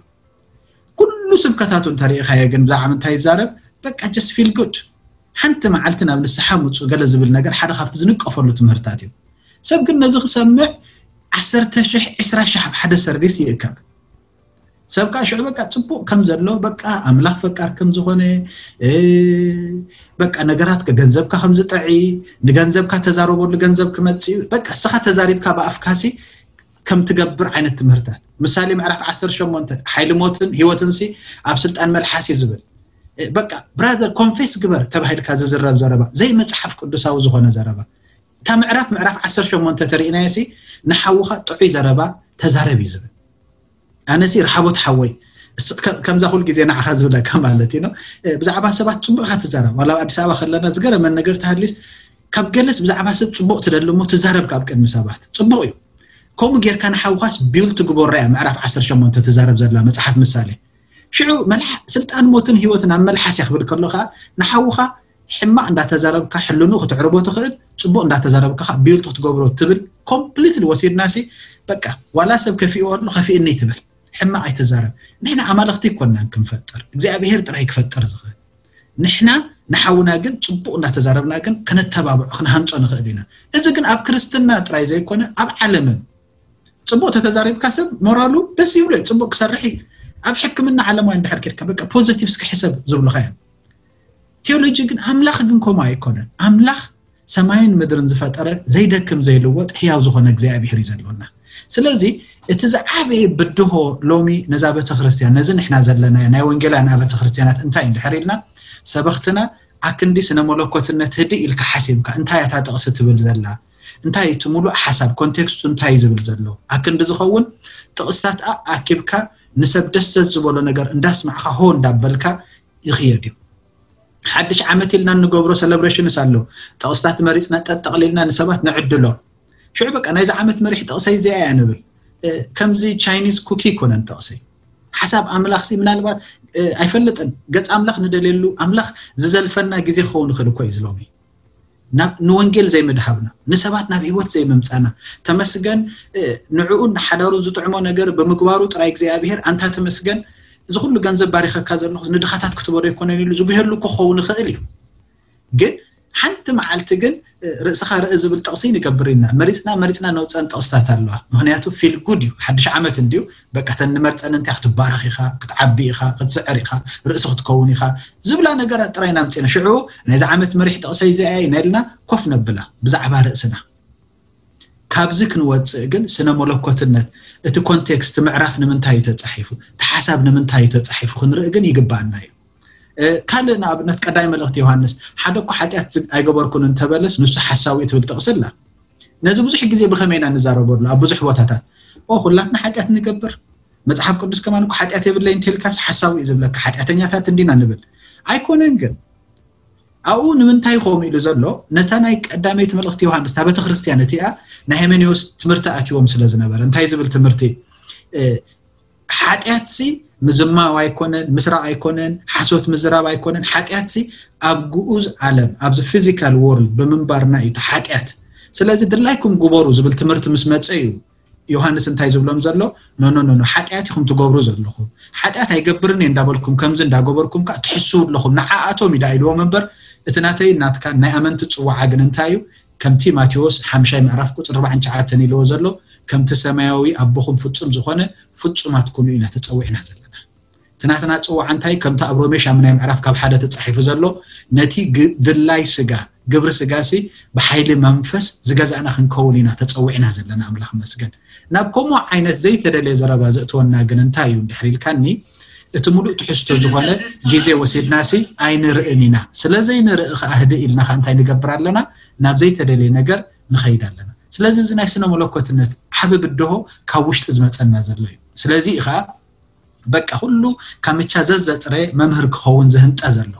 ኩሉ ስብከታቱ እንተሪኢኻዮ ግን ብዛዕባ እንታይ ይዛረብ? በቃ just feel good። ሓንቲ መዓልቲ ናብ ንስሓ ምፁ ገለ ዝብል ነገር ሓደ ካብቲ ዝንቀፈሉ ትምህርታት እዩ። ሰብ ግን ነዚ ክሰምዕ ዓሰርተ ሽሕ፣ ዕስራ ሽሕ ኣብ ሓደ ሰርቪስ ይእከብ። ሰብ ከዓ ሽዑ በቃ ጽቡቕ ከም ዘሎ፣ በቃ ኣምላኽ ፈቃር ከም ዝኾነ፣ እ፣ በቃ ነገራት ገንዘብካ ከም ዝጠዒ፣ ንገንዘብካ ተዛረበሉ፣ ገንዘብ ክመጽእ እዩ። በቃ እስኻ ተዛሪብካ ብኣፍካሲ ከም ትገብር ዓይነት ትምህርታት። ምሳሌ ምዕራፍ ዓሰርተ ሸሞንተ ሓይሊ ሞትን ህይወትንሲ ኣብ ስልጣን መልሓስ እዩ ዝብል። እ፣ በቃ ብራዘር ኮንፌስ ግበር ተባሂልካ ዝዝረብ ዘረባ፣ ዘይ መጽሓፍ ቅዱሳዊ ዝኾነ ዘረባ። እታ ምዕራፍ፣ ምዕራፍ ዓሰርተ ሸሞንተ ተርእናየሲ ንሓውኻ ጥዑይ ዘረባ ተዛረብ እዩ ዝብል። ኣነሲ ረሓቦት ሓወይ፣ እስ-፣ ከ-፣ ከምዛ ኩሉ ግዜ ንዓኻ ዝብለካ ማለት እዩ፣ እ፣ ብዛዕባ ሰባት ጽቡቕ ኢኻ ትዛረብ። ዋላ ኣብ ኣዲስ ኣበባ ከለና ዝገረመን ነገር ተሃልዩስ፣ ካብ ገለስ ብዛዕባ ሰብ ጽቡቕ ትደሊ እሞ ትዛረብ ካብ ቅድሚ ሰባት። ጽቡቕ እዩ። ከምኡ ጌርካ ንሓውኻስ ቢውልድ ትግበሮ እያ። ምዕራፍ ዓሰርተ ሸሞንተ ትዛረብ ዘላ መጽሓፍ ምሳሌ። ሽዑ መልሓ-፣ ስልጣን ሞትን ህይወትን ኣብ መልሓስ እያ ክብል ከሎ ከኣ ንሓውኻ ሕማቕ እንዳተዛረብካ ሕልኑ ክትዕርቦ ትኽእል፣ ጽቡቕ እንዳተዛረብካ ከኣ ቢውልድ ክትገብሮ ትብል ኮምፕሊትሊ ወሲድናሲ፣ በቃ ዋላ ሰብ ከፊእዎ ኣሎ ከፊእኒ ትብል። ሕማቕ ኣይተዛረብ። ንሕና ኣማልኽቲ ኣይኮንናን ክንፈጥር፣ እግዚኣብሄር ጥራይ ክፈጥር ዝኽእል። ንሕና ንሓውና ግን ጽቡቕ እንዳተዛረብና ግን ከነተባብዖ ክንሃንጾ ንኽእል ኢና። እዚ ግን ኣብ ክርስትና ጥራይ ዘይኮነ ኣብ ዓለምን ጽቡቕ ተተዛሪብካ ሰብ ሞራሉ ደስ ይብሎ እዩ፣ ጽቡቕ ክሰርሕ እዩ። ኣብ ሕክምና ዓለማዊ እንድሕር ኬድካ በቃ ፖዘቲቭ እስኪ ሕሰብ ዝብሉኻ እዮም። ቴዎሎጂ ግን ኣምላኽ ግን ከምኡ ኣይኮነን። ኣምላኽ ሰማይን ምድርን ዝፈጠረ ዘይደክም ዘይልወጥ ህያው ዝኾነ እግዚኣብሔር እዩ ዘሎና። ስለዚ እቲ ዝዓበየ ብድሆ ሎሚ ነዛ ቤተክርስትያን፣ ነዚ ንሕና ዘለናዮ ናይ ወንጌላውያን ቤተክርስትያናት እንታይ እንድሕር ኢልና፣ ሰበኽትና ኣክንዲ ስነ መለኮትነት ህድእ ኢልካ ሓሲብካ እንታይ እታ ጥቕሲ ትብል ዘላ፣ እንታይ እቲ ሙሉእ ሓሳብ ኮንቴክስቱ እንታይ ዝብል ዘሎ ኣክንዲ ዝኸውን ጥቕስታት ኣኪብካ ንሰብ ደስ ዝበሎ ነገር እንዳስማዕካ ሆ እንዳበልካ ይኽየድ እዩ። ሓድሽ ዓመት ኢልና እንገብሮ ሰለብሬሽንስ ኣሎ። ጥቕስታት መሪፅና ጠጠቕሊልና ንሰባት ንዕድሎም። ሽዑ በቃ ናይዚ ዓመት መሪሕ ጥቕሰይ እዚኣ እያ ንብል። እ፣ ከምዚ ቻይኒዝ ኩኪ ይኮነን ጥቕሰይ። ሓሳብ ኣምላኽ ሲ ምናልባት፣ እ፣ ኣይፈልጥን። ገጽ ኣምላኽ ንደልየሉ ኣምላኽ ዝዘልፈና ግዜ ክኸውን ይኽእል እኮ እዩ ዝሎሚ። ናብ ንወንጌል ዘይምድሃብና፣ ንሰባት ናብ ህይወት ዘይምምጻና፣ ተመስገን፣ እ፣ ንዕኡን ንሓዳሩን ዝጥዕሞ ነገር ብምግባሩ ጥራይ እግዚኣብሔር ኣንታ ተመስገን፣ እዚ ኩሉ ገንዘብ ባሪኸካ ዘለኹ ንድኻታት ክትበዶ ኣይኮነን ኢሉ ዝጉሄሉ እኮ ክኸውን ይኽእል እዩ። ግን ሓንቲ መዓልቲ ግን፣ እ፣ ርእስኻ ርእ ዝብል ጥቕሲ ንገብር ኢና። መሪጽና፣ መሪጽና ነውጸን ጥቕስታት ኣለዋ። ምኽንያቱ ፊል ጉድ እዩ። ሓድሽ ዓመት እንድዩ፣ በቃ ተን ንመርጸን እንታይ ክትባረኽ ኢኻ፣ ክትዓቢ ኢኻ፣ ክትስዕር ኢኻ፣ ርእሲ ክትከውን ኢኻ ዝብላ ነገራት ጥራይ ናምጽና። ሽዑ ናይዚ ዓመት መሪሕ ጥቕሰይ እዚኣ እያ ኢልና ኮፍ ነብላ ብዛዕባ ርእስና። ካብዚ ክንወጽእ ግን ስነ መለኮትነት፣ እቲ ኮንቴክስት፣ እቲ ምዕራፍ ንምንታይ እዩ ተጻሒፉ፣ እቲ ሓሳብ ንምንታይ እዩ ተጻሒፉ ክንርኢ ግን ይግባኣና እዩ። እ፣ ካልእ ንኣብነት ቀዳይ መልእኽቲ ዮሃንስ፣ ሓደ እኮ ሓጢኣት ዝ-፣ ኣይገበርኩን እንተበለስ ንሱ ሓሳዊ እዩ ትብል ጥቕሲ ኣላ። ነዚ ብዙሕ ግዜ ብኸመይ ኢና ንዛረበሉ ኣብ ብዙሕ ቦታታት? ኦ፣ ኩላትና ሓጢኣት ንገብር። መጽሓፍ ቅዱስ ከማን እኮ ሓጢኣት የብለይ እንተልካስ ሓሳዊ እዩ ዝብለካ። ሓጢኣተኛታት እንዲና ንብል። ኣይኮነን ግን። ኣብኡ ንምንታይ ከምኡ ኢሉ ዘሎ? ነታ ናይ ቀዳመይቲ መልእኽቲ ዮሃንስ፣ እታ ቤተ ክርስቲያን እቲኣ ናይ ሄሜኔዎስ ትምህርቲ ኣትይዎም ስለ ዝነበረ። እንታይ ዝብል ትምህርቲ? እ፣ ሓጢኣትሲ ምዝማው ኣይኮነን፣ ምስራቕ ኣይኮነን፣ ሓሶት ምዝራብ ኣይኮነን። ሓጢኣትሲ ኣብ ግኡዝ ዓለም፣ ኣብዚ ፊዚካል ወርልድ ብምንባርና እዩ እቲ ሓጢኣት። ስለዚ ድላይኩም ግበሩ ዝብል ትምህርቲ ምስ መጸ እዩ ዮሃንስ እንታይ ዝብሎም ዘሎ? ኖ፣ ኖ፣ ኖ፣ ኖ፣ ሓጢኣት ኢኹም ትገብሩ ዘለኹም። ሓጢኣት ኣይገብርን እየ እንዳበልኩም፣ ከምዚ እንዳገበርኩም ከኣ ትሕስው ኣለኹም። ንዓኣቶም እዩ ደኣ ኢልዎም እምበር፣ እቲ ናተይን ናትካን ናይ ኣመንቲ ጽዋዓ ግን እንታይ እዩ? ከምቲ ማቴዎስ ሓምሻይ ምዕራፍ ቁጽሪ ኣርባዓን ትሽዓተን ኢልዎ ዘሎ፣ ከምቲ ሰማያዊ ኣቦኹም ፍጹም ዝኾነ፣ ፍጹማት ኩኑ ኢና ተጸዊዕና ዘለና። እቲ ናትና ጽዋዓ እንታይ? ከምቲ ኣብ ሮሜ ሻምናይ ምዕራፍ ካብ ሓደ ተጻሒፉ ዘሎ፣ ነቲ ግ-፣ ድላይ ስጋ፣ ግብሪ ስጋሲ ብሓይሊ መንፈስ ዝገዛእና ክንከውን ኢና ተጸዊዕና ዘለና። ኣምላኽ ይመስገን። ናብ ከምኡ ዓይነት ዘይተደልየ ዘረባ ዘእትወና ግን እንታይ እዩ እንድሕር ኢልካኒ፣ እቲ ሙሉእ ትሕዝቶ ዝኾነ ግዜ ወሲድናሲ ኣይንርእን ኢና። ስለ ዘይንርኢ ከኣ ህድእ ኢልና ከኣ እንታይ ንገብር ኣለና? ናብ ዘይተደልየ ነገር ንኸይድ ኣለና። ስለዚ እዚ ናይ ስነ መለኮትነት ዓቢ ብድሆ ካብ ውሽጢ ዝመጸና ዘሎ እዩ። ስለዚ እዩ ከኣ በቃ ኩሉ ካምቻ ዘዘጽረ መምህር ክኸውን ዝህንጠ ዘሎ።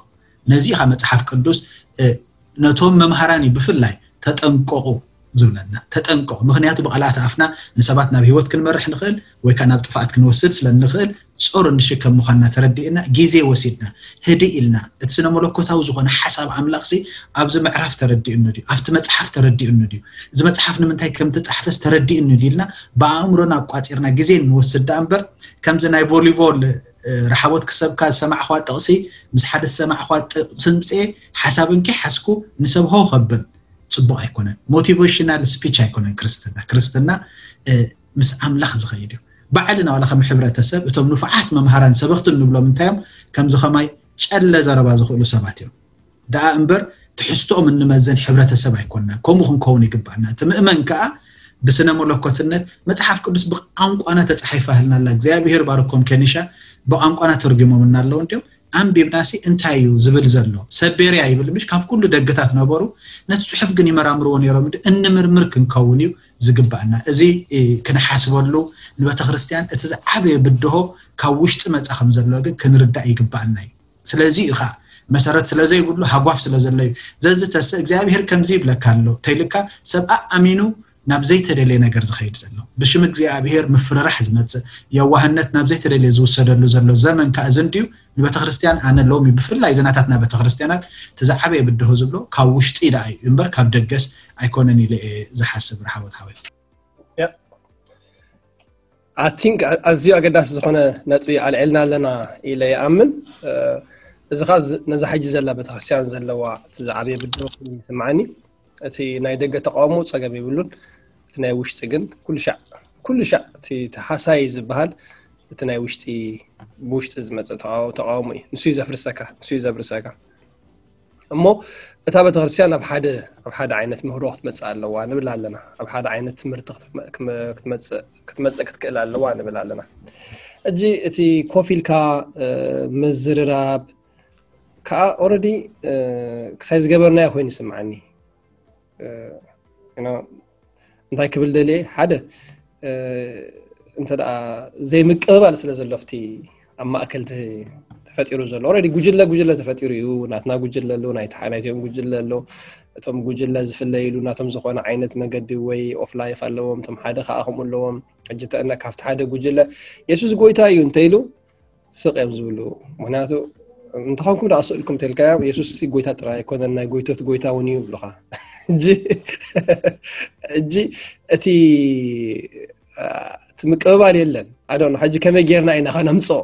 ነዚ ኸኣ መጽሓፍ ቅዱስ፣ እ፣ ነቶም መምሃራን እዩ ብፍላይ ተጠንቀቑ ዝብለና። ተጠንቀቑ። ምኽንያቱ ብቓላት ኣፍና ንሰባት ናብ ህይወት ክንመርሕ ንኽእል ወይ ከኣ ናብ ጥፍኣት ክንወስድ ስለ እንኽእል ጾር እንሽከም ምዃንና ተረዲእና ግዜ ወሲድና ህድእ ኢልና እቲ ስነ መለኮታዊ ዝኾነ ሓሳብ ኣምላኽሲ ኣብዚ ምዕራፍ ተረዲእኑ ድዩ? ኣብቲ መጽሓፍ ተረዲእኑ ድዩ? እዚ መጽሓፍ ንምንታይ ከም ተጻሕፈስ ተረዲእኑ ድዩ ኢልና ብኣእምሮና ኣቋጺርና ግዜ ንወስድ ደኣ እምበር ከምዚ ናይ ቮሊቦል፣ እ፣ ረሓቦት ክሰብካ ዝሰማዕኽዋ ጥቕሲ ምስ ሓደ ዝሰማዕኽዋ ጥቕሲ ምጽኤ ሓሳብ እንኪ ሓዝኩ ንሰብ ሆ ከብል ጽቡቕ ኣይኮነን። ሞቲቬሽናል ስፒች ኣይኮነን ክርስትና። ክርስትና ምስ ኣምላኽ ዝኸይድ እዩ። ባዕልና ዋላ ከም ሕብረተሰብ እቶም ንፉዓት መምሃራን ሰበኽቲ እንብሎም እንታዮም ከምዚ ከማይ ጨለ ዘረባ ዝኽእሉ ሰባት እዮም። ደኣ እምበር ትሕዝቶኦም እንመዘን ሕብረተሰብ ኣይኮንናን። ከምኡ ክንከውን ይግባና። እቲ ምእመን ከኣ ብስነ መለኮትነት መጽሓፍ ቅዱስ ብቋንቋና ተጻሒፋ ህልና ኣላ። እግዚኣብሔር ባርኮም ከኒሻ ብቋንቋና ተርጉሞምና ኣለዉ እንዲዮም። ኣንቢብናሲ እንታይ እዩ ዝብል ዘሎ ሰቤርያ ይብል ምሽ ካብ ኩሉ ደግታት ነበሩ። ነቲ ጽሑፍ ግን ይመራምርዎ ነይሮም እንዲ እንምርምር ክንከውን እዩ ዝግባኣና። እዚ ክንሓስበሉ ንቤተ ክርስቲያን እቲ ዝዓበየ ብድሆ ካብ ውሽጢ መጻ ከም ዘሎ ግን ክንርዳእ ይግባኣና እዩ። ስለዚ እዩ ከዓ መሰረት ስለ ዘይብሉ ሃጓፍ ስለ ዘሎ እዩ። ዘዚ ተሰ እግዚኣብሔር ከምዚ ይብለካ ኣሎ ተይልካ ሰብ ኣሚኑ ናብ ዘይተደልየ ነገር ዝኸይድ ዘሎ ብሽም እግዚኣብሔር ምፍርራሕ ዝመፅእ የዋህነት ናብ ዘይተደልየ ዝውሰደሉ ዘሎ ዘመን ከዓ እዚ እንድዩ። ንቤተክርስትያን ኣነ ሎሚ ብፍላይ ዝናታትና ቤተክርስትያናት እቲ ዝዓበየ ብድሆ ዝብሎ ካብ ውሽጢ ደኣ እዩ እምበር ካብ ደገስ ኣይኮነን ኢለ እየ ዝሓስብ። ረሓቦት ሓወይ I think ኣዝዩ ኣገዳሲ ዝኾነ ነጥቢ ኣልዒልና ኣለና ኢለ ይኣምን። እዚ ኻ ነዛ ሕጂ ዘላ ቤተክርስትያን ዘለዋ እቲ ዝዓበየ ብድሆ ይስምዓኒ። እቲ ናይ ደገ ተቃውሞ ጸገም የብሉን። እቲ ናይ ውሽጢ ግን ኩሉ ሻዕ ኩሉ ሻዕ እቲ ተሓሳይ ዝበሃል እቲ ናይ ውሽጢ ብውሽጢ ዝመጽእ ተቃውሞ እዩ። ንሱ እዩ ዘፍርሰካ፣ ንሱ እዩ ዘብርሰካ። እሞ እታ ቤተክርስትያን ኣብ ሓደ ኣብ ሓደ ዓይነት ምህሮ ክትመጽእ ኣለዋ ንብል ኣለና። ኣብ ሓደ ዓይነት ትምህርቲ ክትመጽእ ክትመጽእ ክትክእል ኣለዋ ንብል ኣለና። እጂ እቲ ኮፍ ኢልካ ምዝርራብ ከዓ ኦረዲ ክሳይ ዝገበርናዮ ኮይኑ ይስምዓኒ። እንታይ ክብል ደልየ ሓደ እንተ ዘይምቅብባል ስለ ዘሎ ኣብቲ ኣብ ማእከል ተፈጢሩ ዘሎ ኦረዲ ጉጅለ ጉጅለ ተፈጢሩ እዩ። ናትና ጉጅለ ኣሎ፣ ናይቲኦም ጉጅለ ኣሎ። እቶም ጉጅለ ዝፍለይሉ ናቶም ዝኾነ ዓይነት መገዲ ወይ ኦፍ ላይፍ ኣለዎም። እቶም ሓደ ከዓ ከምኡ ኣለዎም። ሕጂ ተእነ ካብቲ ሓደ ጉጅለ የሱስ ጎይታ እዩ እንተኢሉ ስቕ እዮም ዝብሉ። ምክንያቱ እንተኾንኩም ደኣ ስእልኩም ተልካዮም የሱስ ጎይታ ጥራይ ኣይኮነን ናይ ጎይቶት ጎይታ እውን እዩ ይብሉኻ። እጂ እቲ እቲ ምቅብባል የለን። ኣዶ ሕጂ ከመይ ጌርና ኢና ከነምፅኦ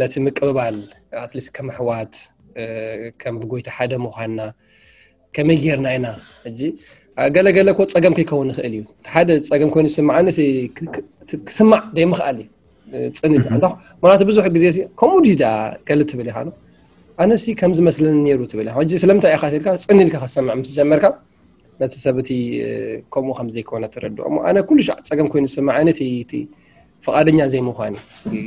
ነቲ ምቅብባል ኣትሊስት ከም ኣሕዋት ከም ብጎይታ ሓደ ምዃንና ከመይ ጌርና ኢና ሕጂ ገለገለ ኮ ፀገም ከይከውን ይኽእል እዩ። ሓደ ፀገም ኮይኑ ዝስምዓኒ ክስማዕ ደይምኽኣል እዩ። ፅን ምክንያቱ ብዙሕ ግዜ ከምኡ ድዩ ደኣ ገለ ትብል ኢኻ። ኣነሲ ከም ዝመስለኒ ነይሩ ትብል ኢኻ። ሕጂ ስለምንታይ ኢኻ ኢልካ ፅን ኢልካ ክትሰምዕ ምስ ጀመርካ ነቲ ሰብ እቲ ከምኡ ከም ዘይኮነ ትረድኦ። እሞ ኣነ ኩሉ ሻዕ ፀገም ኮይኑ ዝስምዓኒ እቲ ፍቓደኛ ዘይምዃን እዩ።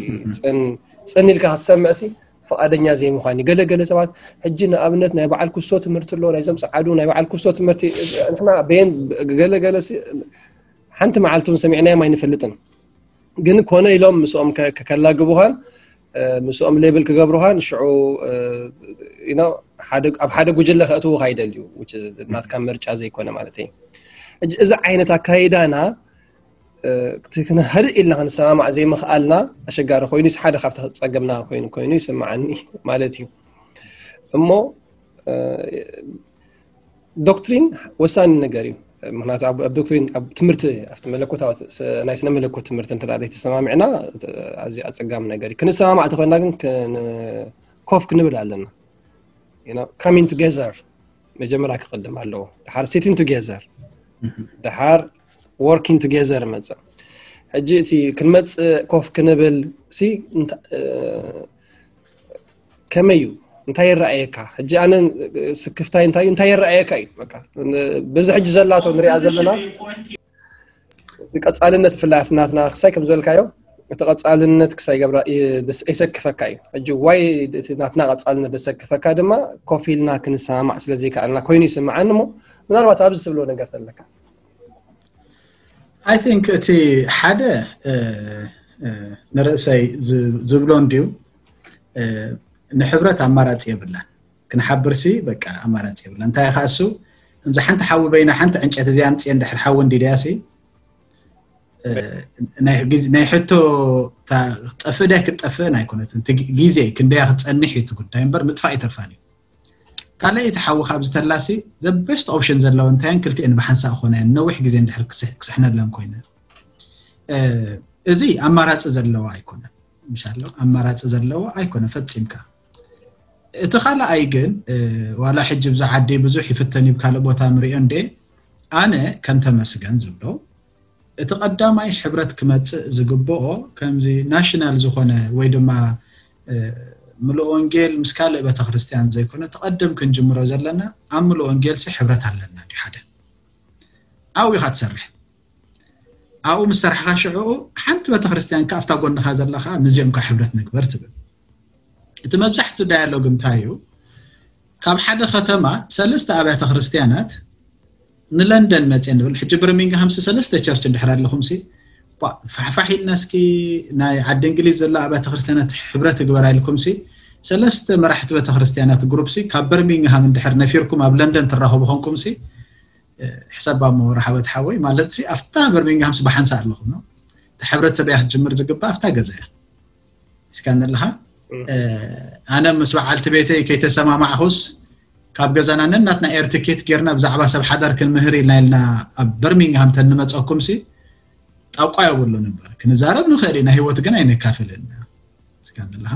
ፅን ኢልካ ክትሰምዕ ሲ ፍቓደኛ ዘይምዃን እዩ። ገለ ገለ ሰባት ሕጂ ንኣብነት ናይ በዓል ኩስቶ ትምህርቲ ኣሎ፣ ናይዞም ፀዓዱ ናይ በዓል ኩስቶ ትምህርቲ ንሕና በየን ገለ ገለ ሓንቲ መዓልቲ እውን ሰሚዕናዮም ኣይንፈልጥን። ግን ኮነ ኢሎም ምስኦም ከላግቡኻን ምስኦም ሌብል ክገብሩኻን ሽዑ ኣብ ሓደ ጉጅለ ከእትዉኻ ይደልዩ። ናትካ ምርጫ ዘይኮነ ማለት እዩ። እዚ ዓይነት ኣካይዳና ክንህድእ ኢልና ክንሰማማዕ ዘይምኽኣልና ኣሸጋሪ ኮይኑ ሓደ ካብቲ ፀገምና ኮይኑ ኮይኑ ይስምዓኒ ማለት እዩ። እሞ ዶክትሪን ወሳኒ ነገር እዩ። ምክንያቱ ኣብ ዶክትሪን ኣብ ትምህርቲ ኣብቲ መለኮታዊ ናይ ስነ መለኮት ትምህርቲ እንተ ተሰማሚዕና ኣዝዩ ኣፀጋሚ ነገር እዩ። ክንሰማማዕ ተኮይና ግን ኮፍ ክንብል ኣለና። Coming together መጀመርያ ክቕድም ኣለዎ። ድሓር sitting together ድሓር working together መፅእ። ሕጂ እቲ ክንመፅእ ኮፍ ክንብል ሲ ከመይ እዩ እንታይ ይረኣየካ? ሕጂ ኣነ ስክፍታይ እንታይ እንታይ ይረኣየካ እዩ። በዚ ሕጂ ዘላቶ ንሪኣ ዘለና ቀፃልነት ብፍላይ ናትና ክሳይ ከም ዝበልካዮ እቲ ቀፃልነት ክሳይ ገብራ የሰክፈካ እዩ። ሕጂ ዋይ ናትና ቀፃልነት ዘሰክፈካ ድማ ኮፍ ኢልና ክንሰማማዕ ስለዘይከኣልና ኮይኑ ይስምዓኒ። እሞ ምናልባት ኣብዚ ትብሎ ነገር ተለካ I think እቲ ሓደ ንርእሰይ ዝብሎ እንድዩ ንሕብረት ኣማራፂ የብላን። ክንሓብር ሲ በቃ ኣማራፂ የብላን። እንታይ ከዓ እሱ ከምዚ ሓንቲ ሓዊ በይና ሓንቲ ዕንጨት እዚኣ ኣምፅየ እንድሕር ሓዊ እንዲድያ ሲ ናይ ሕቶ ጠፍእ ዳይ ክትጠፍእን ኣይኮነትን። ግዜ ክንደያ ክትፀንሕ እዩ እቲ ጉዳይ እምበር ምጥፋእ ይተርፋን እዩ። ካልኣይቲ ሓዊ ካብ ዝተላሲ the best option ዘለዎ እንታይን ክልቲኤን ብሓንሳእ ኮነ ነዊሕ ግዜ እንድሕር ክስሕነለን ኮይነ እዚ ኣማራፂ ዘለዎ ኣይኮነን። ምሻሎ ኣማራፂ ዘለዎ ኣይኮነ ፈፂምካ። እቲ ካልኣይ ግን ዋላ ሕጂ ብዛ ዓዲ ብዙሕ ይፍተን እዩ ካልእ ቦታ ምሪኦ እንዴ፣ ኣነ ከም ተመስገን ዝብሎ እቲ ቀዳማይ ሕብረት ክመፅእ ዝግብኦ ከምዚ ናሽናል ዝኾነ ወይ ድማ ምሉእ ወንጌል ምስ ካልእ ቤተክርስትያን ዘይኮነ ተቐድም ክንጅምሮ ዘለና ኣብ ምሉእ ወንጌል ሲ ሕብረት ኣለና ድዩ ሓደ ኣብኡ ኢኻ ትሰርሕ ኣብኡ ምስ ሰርሕኻ ሽዕኡ ሓንቲ ቤተክርስትያን ከ ኣብታ ጎንኻ ዘለኻ ምስዚኦም ከ ሕብረት ንግበር ትብል እቲ መብዛሕቱ ዳያሎግ እንታይ እዩ ካብ ሓደ ከተማ ሰለስተ ኣብያተ ክርስትያናት ንለንደን መፅየ ንብል ሕጂ ብርሚንግሃም ሲ ሰለስተ ቸርች እንድሕር ኣለኹም ሲ ፋሕፋሕ ኢልና እስኪ ናይ ዓዲ እንግሊዝ ዘሎ ኣብያተ ክርስትያናት ሕብረት እግበራ ኢልኩም ሲ ሰለስተ መራሕቲ ቤተክርስትያናት ግሩፕ ሲ ካብ በርሚንግሃም እንድሕር ነፊርኩም ኣብ ለንደን ትራኸቡ ኮንኩም ሲ ሕሰባ እሞ ረሓበት ሓወይ ማለት ሲ ኣብታ በርሚንግሃም ሲ ብሓንሳ ኣለኹም ነው ሕብረተሰብ እያ ክትጅምር ዝግባ ኣብታ ገዛ እያ እስካ ንለኻ ኣነ ምስ በዓልቲ ቤተይ ከይተሰማማዕኹስ ካብ ገዛና ነናትና ኤርትኬት ጌርና ብዛዕባ ሰብ ሓዳር ክንምህር ኢልና ኢልና ኣብ በርሚንግሃም ተንመፀኩም ሲ ጣቋ የብሉን እምበር ክንዛረብ ንኽእል ኢና ህይወት ግን ኣይነካፍልን እስካ ንለኻ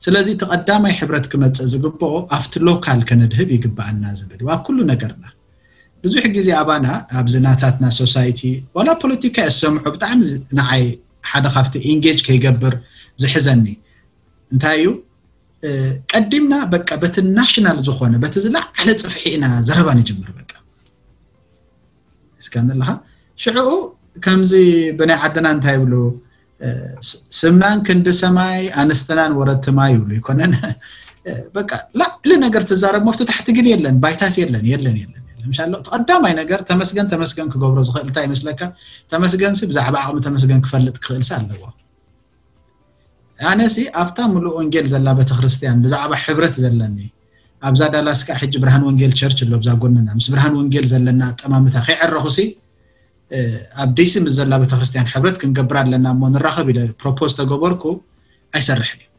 ስለዚ እቲ ቀዳማይ ሕብረት ክመፅእ ዝግብኦ ኣብቲ ሎካል ከነድህብ ይግብኣና ዝብል ኣብ ኩሉ ነገርና ብዙሕ ግዜ ኣባና ኣብዚ ናታትና ሶሳይቲ ዋላ ፖለቲካ የሰምዖ ብጣዕሚ ንዓይ ሓደ ካብቲ ኢንጌጅ ከይገብር ዝሕዘኒ እንታይ እዩ ቀዲምና በቃ በቲ ናሽናል ዝኾነ በቲ ዝለዓለ ፅፍሒ ኢና ዘረባ ንጅምር በቃ እስካ ንለኻ ሽዕኡ ከምዚ ብናይ ዓድና እንታይ ይብሉ ስምናን ክንዲ ሰማይ ኣንስትናን ወረድቲ ማይ ይብሉ ይኮነን በቃ ላዕሊ ነገር ትዛረብ መፍቱ ታሕቲ ግን የለን ባይታስ የለን የለን የለን የለን ምሻሎ ተቀዳማይ ነገር ተመስገን ተመስገን ክገብሮ ዝኽእል እንታይ ይመስለካ ተመስገን ሲ ብዛዕባ ዓቕሚ ተመስገን ክፈልጥ ክኽእል ሲ ኣለዎ ኣነሲ ኣብታ ምሉእ ወንጌል ዘላ ቤተክርስትያን ብዛዕባ ሕብረት ዘለኒ ኣብዛ ዳላስ ከዓ ሕጂ ብርሃን ወንጌል ቸርች ኣሎ ብዛ ጎንና ምስ ብርሃን ወንጌል ዘለና ኣጠማምታ ከይዕረኹሲ ኣብ ዲሲ ምስ ዘላ ቤተክርስትያን ሕብረት ክንገብር ኣለና እሞ ንራኸብ ኢለ ፕሮፖዝ ተገበርኩ ኣይሰርሕን እዩ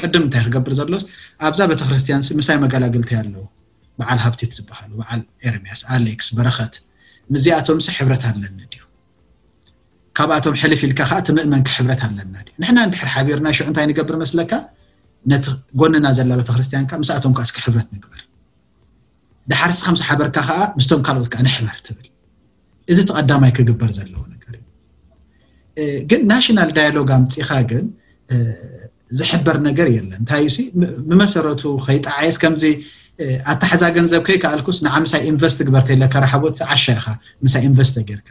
ቅድም እንታይ ክገብር ዘሎስ ኣብዛ ቤተክርስትያን ምሳይ መገላግልቲ ኣለዉ በዓል ሃብቲት ዝበሃሉ በዓል ኤርሚያስ ኣሌክስ በረኸት ምስዚኣቶምሲ ሕብረት ኣለኒ ድዩ ካብኣቶም ሕልፍ ኢልካ ከዓ እቲ ምእመን ክሕብረት ኣለና ድዩ ንሕና እንድሕር ሓቢርና ሽዑ እንታይ ንገብር መስለካ ነቲ ጎንና ዘላ ቤተክርስትያን ከዓ ምስኣቶም ከዓ እስኪ ሕብረት ንግበር ድሓር እስኻ ምስ ሓበርካ ከዓ ምስቶም ካልኦት ከዓ ንሕበር ትብል እዚ ተቐዳማይ ክግበር ዘለዎ ነገር እዩ ግን ናሽናል ዳያሎግ ኣምፂኻ ግን ዝሕበር ነገር የለን እንታይ ሲ ብመሰረቱ ከይጠዓየስ ከምዚ ኣታሕዛ ገንዘብ ከይከኣልኩስ ንዓምሳይ ኢንቨስት ግበር ተይለካ ረሓቦት ዓሻ ኢኻ ምሳይ ኢንቨስት ጌርካ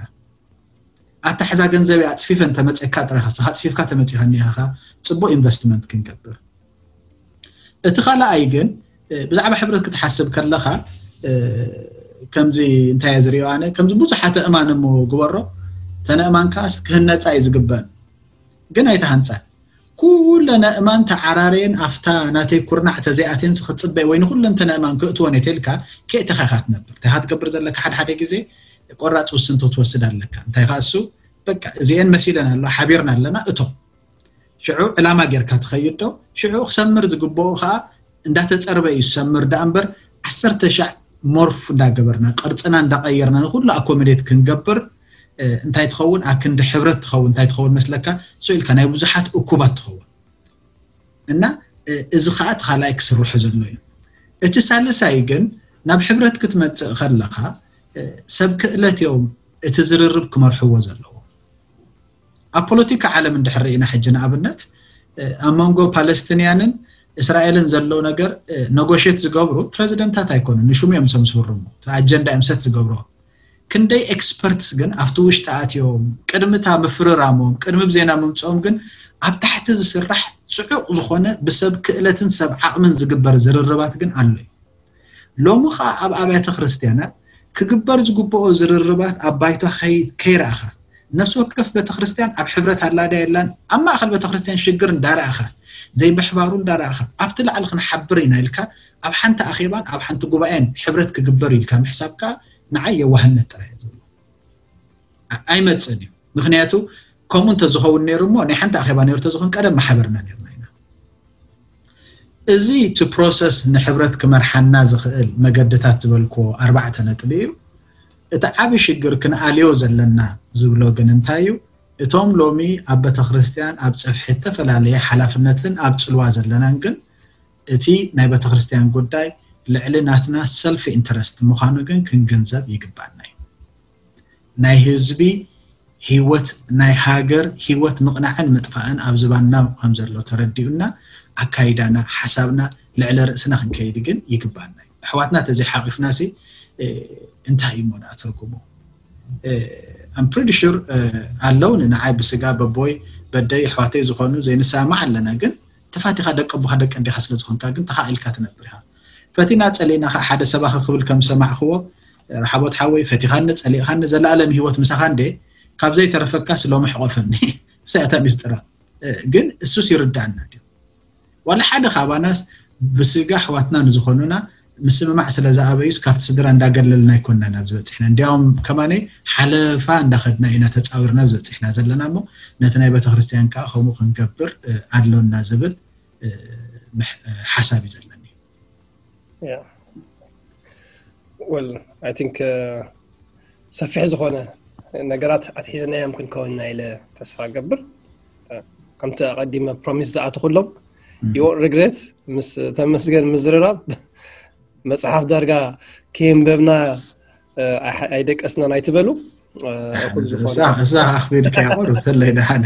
ኣታሕዛ ገንዘብ ኣፅፊፈ እንተመፀካ ጥራኻ ስኻ ኣፅፊፍካ ተመፂኻ እኒኻ ፅቡቅ ኢንቨስትመንት ክንገብር እቲ ካልኣይ ግን ብዛዕባ ሕብረት ክትሓስብ ከለኻ ከምዚ እንታይ ዝሪኦ ኣነ ከምዚ ብዙሓት ኣእማን እሞ ግበሮ ተነእማንካስ ክህነፃ እዩ ዝግበን ግን ኣይተሃንፀን ኩለን ኣእማን ተዓራረየን ኣብታ ናተይ ኩርናዕ ተዘይኣትየን ክፅበይ ወይ ንኩለን ተነእማን ክእትወን እየ ተልካ ከእተኻ ኢኻ ትነብር እንታይ ትገብር ዘለካ ሓደ ሓደ ግዜ ቆራፅ ውስንቶ ትወስድ ኣለካ እንታይ ከዓ እሱ በቃ እዚአን መሲለን ኣሎ ሓቢርና ኣለና እቶም ሽዑ ዕላማ ጌርካ ትኸይድ ዶ ሽዑ ክሰምር ዝግብኦ ከዓ እንዳተፀርበ እዩ ዝሰምር ዳኣ እምበር ዓሰርተ ሻዕ ሞርፍ እንዳገበርና ቅርፅና እንዳቀየርና ንኩሉ ኣኮሚዴት ክንገብር እንታይ ትኸውን ኣክንዲ ሕብረት ትኸውን እንታይ ትኸውን መስለካ ስኡ ኢልካ ናይ ብዙሓት እኩባት ትኸውን እና እዚ ከዓ እቲ ካልኣይ ክስርሑ ዘሎ እዩ እቲ ሳልሳይ ግን ናብ ሕብረት ክትመፅእ ከለካ ሰብ ክእለት እዮም እቲ ዝርርብ ክመርሕዎ ዘለዎ ኣብ ፖለቲካ ዓለም እንድሕር ርኢና ሕጂ ንኣብነት ኣብ መንጎ ፓለስቲንያንን እስራኤልን ዘሎ ነገር ነጎሽት ዝገብሩ ፕረዚደንታት ኣይኮኑን ንሹም እዮም ሰም ዝፍርሙ ኣጀንዳ እዮም ሰት ዝገብሮ ክንደይ ኤክስፐርትስ ግን ኣብቲ ውሽጢ ኣትዮም ቅድሚ እታ ምፍርራሞም ቅድሚ ብዜና ምምፅኦም ግን ኣብ ታሕቲ ዝስራሕ ፅዑቕ ዝኾነ ብሰብ ክእለትን ሰብ ዓቕምን ዝግበር ዝርርባት ግን ኣሎ እዩ ሎሚ ከዓ ኣብ ኣብያተ ክርስትያናት ክግበር ዝግብኦ ዝርርባት ኣብ ባይታ ከይረኣኻ ነፍሲ ወከፍ ቤተክርስትያን ኣብ ሕብረት ኣላዳ የላን ኣብ ማእኸል ቤተክርስትያን ሽግር እንዳረኣኻ ዘይምሕባሩ እንዳረኣኻ ኣብቲ ላዕሊ ክንሓብር ኢና ኢልካ ኣብ ሓንቲ ኣኼባን ኣብ ሓንቲ ጉባኤን ሕብረት ክግበር ኢልካ ምሕሳብ ከዓ ንዓይ የዋህነት ጥራይ ዘሎ ኣይመፅን እዩ ምክንያቱ ከምኡ እንተዝኸውን ነይሩ እሞ ናይ ሓንቲ ኣኼባ ነይሩ ተዝኾን ቀደም ማሓበርና ነርና ኢና እዚ እቲ ፕሮሰስ ንሕብረት ክመርሓና ዝኽእል መገድታት ዝበልክዎ ኣርባዕተ ነጥቢ እዩ እቲ ዓብ ሽግር ክንኣልዮ ዘለና ዝብሎ ግን እንታይ እዩ እቶም ሎሚ ኣብ ቤተክርስትያን ኣብ ፀፍሒ ዝተፈላለየ ሓላፍነትን ኣብ ፅልዋ ዘለናን ግን እቲ ናይ ቤተክርስትያን ጉዳይ ልዕሊ ናትና ሰልፍ ኢንተረስት ምዃኑ ግን ክንግንዘብ ይግባና እዩ። ናይ ህዝቢ ህይወት፣ ናይ ሃገር ህይወት ምቕናዕን ምጥፋእን ኣብ ዝባንና ከም ዘሎ ተረዲኡና ኣካይዳና ሓሳብና ልዕሊ ርእስና ክንከይድ ግን ይግባና እዩ። ኣሕዋትና ተዘይሓቂፍና ሲ እንታይ እዩ ሞ ደኣ ትርጉሙ? ኣም ፕሪቲ ሹር ኣለውን ንዓይ ብስጋ በቦይ በደይ ኣሕዋተይ ዝኾኑ ዘይንሰማማዕ ኣለና፣ ግን ተፋቲኻ ደቂ ኣቦኻ ደቂ ኣዴኻ ስለ ዝኾንካ ግን ተኻኢልካ ትነብር ኢኻ። ፈቲና ጸሊእና ከዓ ሓደ ሰባኺ ክብል ከም ዝሰማዕኽዎ፣ ረሓቦት ሓወይ፣ ፈቲኻኒ ጸሊእኻኒ ዘለኣለም ህይወት ምሳኻ እንዴ፣ ካብ ዘይተረፈካስ ሎሚ ሕቆፈኒ። እሳ እታ ሚስጥራ። ግን እሱስ ይርዳኣና ድዩ? ዋላ ሓደ ካባናስ ብስጋ ኣሕዋትና ንዝኾኑና ምስምማዕ ስለ ዝኣበዩስ ካብቲ ስድራ እንዳገለልና ኣይኮንና ናብ ዝበፅሕና፣ እንዲያውም ከማነይ ሓለፋ እንዳኸድና ኢና ተፃዊርና ዝበፅሕና ዘለና እሞ፣ ነቲ ናይ ቤተክርስትያን ከዓ ከምኡ ክንገብር ኣሎና ዝብል ሓሳብ እዩ ዘለኒ። ወል ኣይ ቲንክ ሰፊሕ ዝኾነ ነገራት ኣትሒዝናዮም ክንከውንና ኢለ ተስፋ ገብር። ከምቲ ኣቐዲመ ፕሮሚስ ዝኣትኹሎም ይወ ሪግሬት ምስ ተመስገን ምዝርራብ መፅሓፍ ዳርጋ ከየንበብና ኣይደቀስናን ኣይትበሉ። እዛ ኣኽቢድካ ያቆር ብተለይ ደሓነ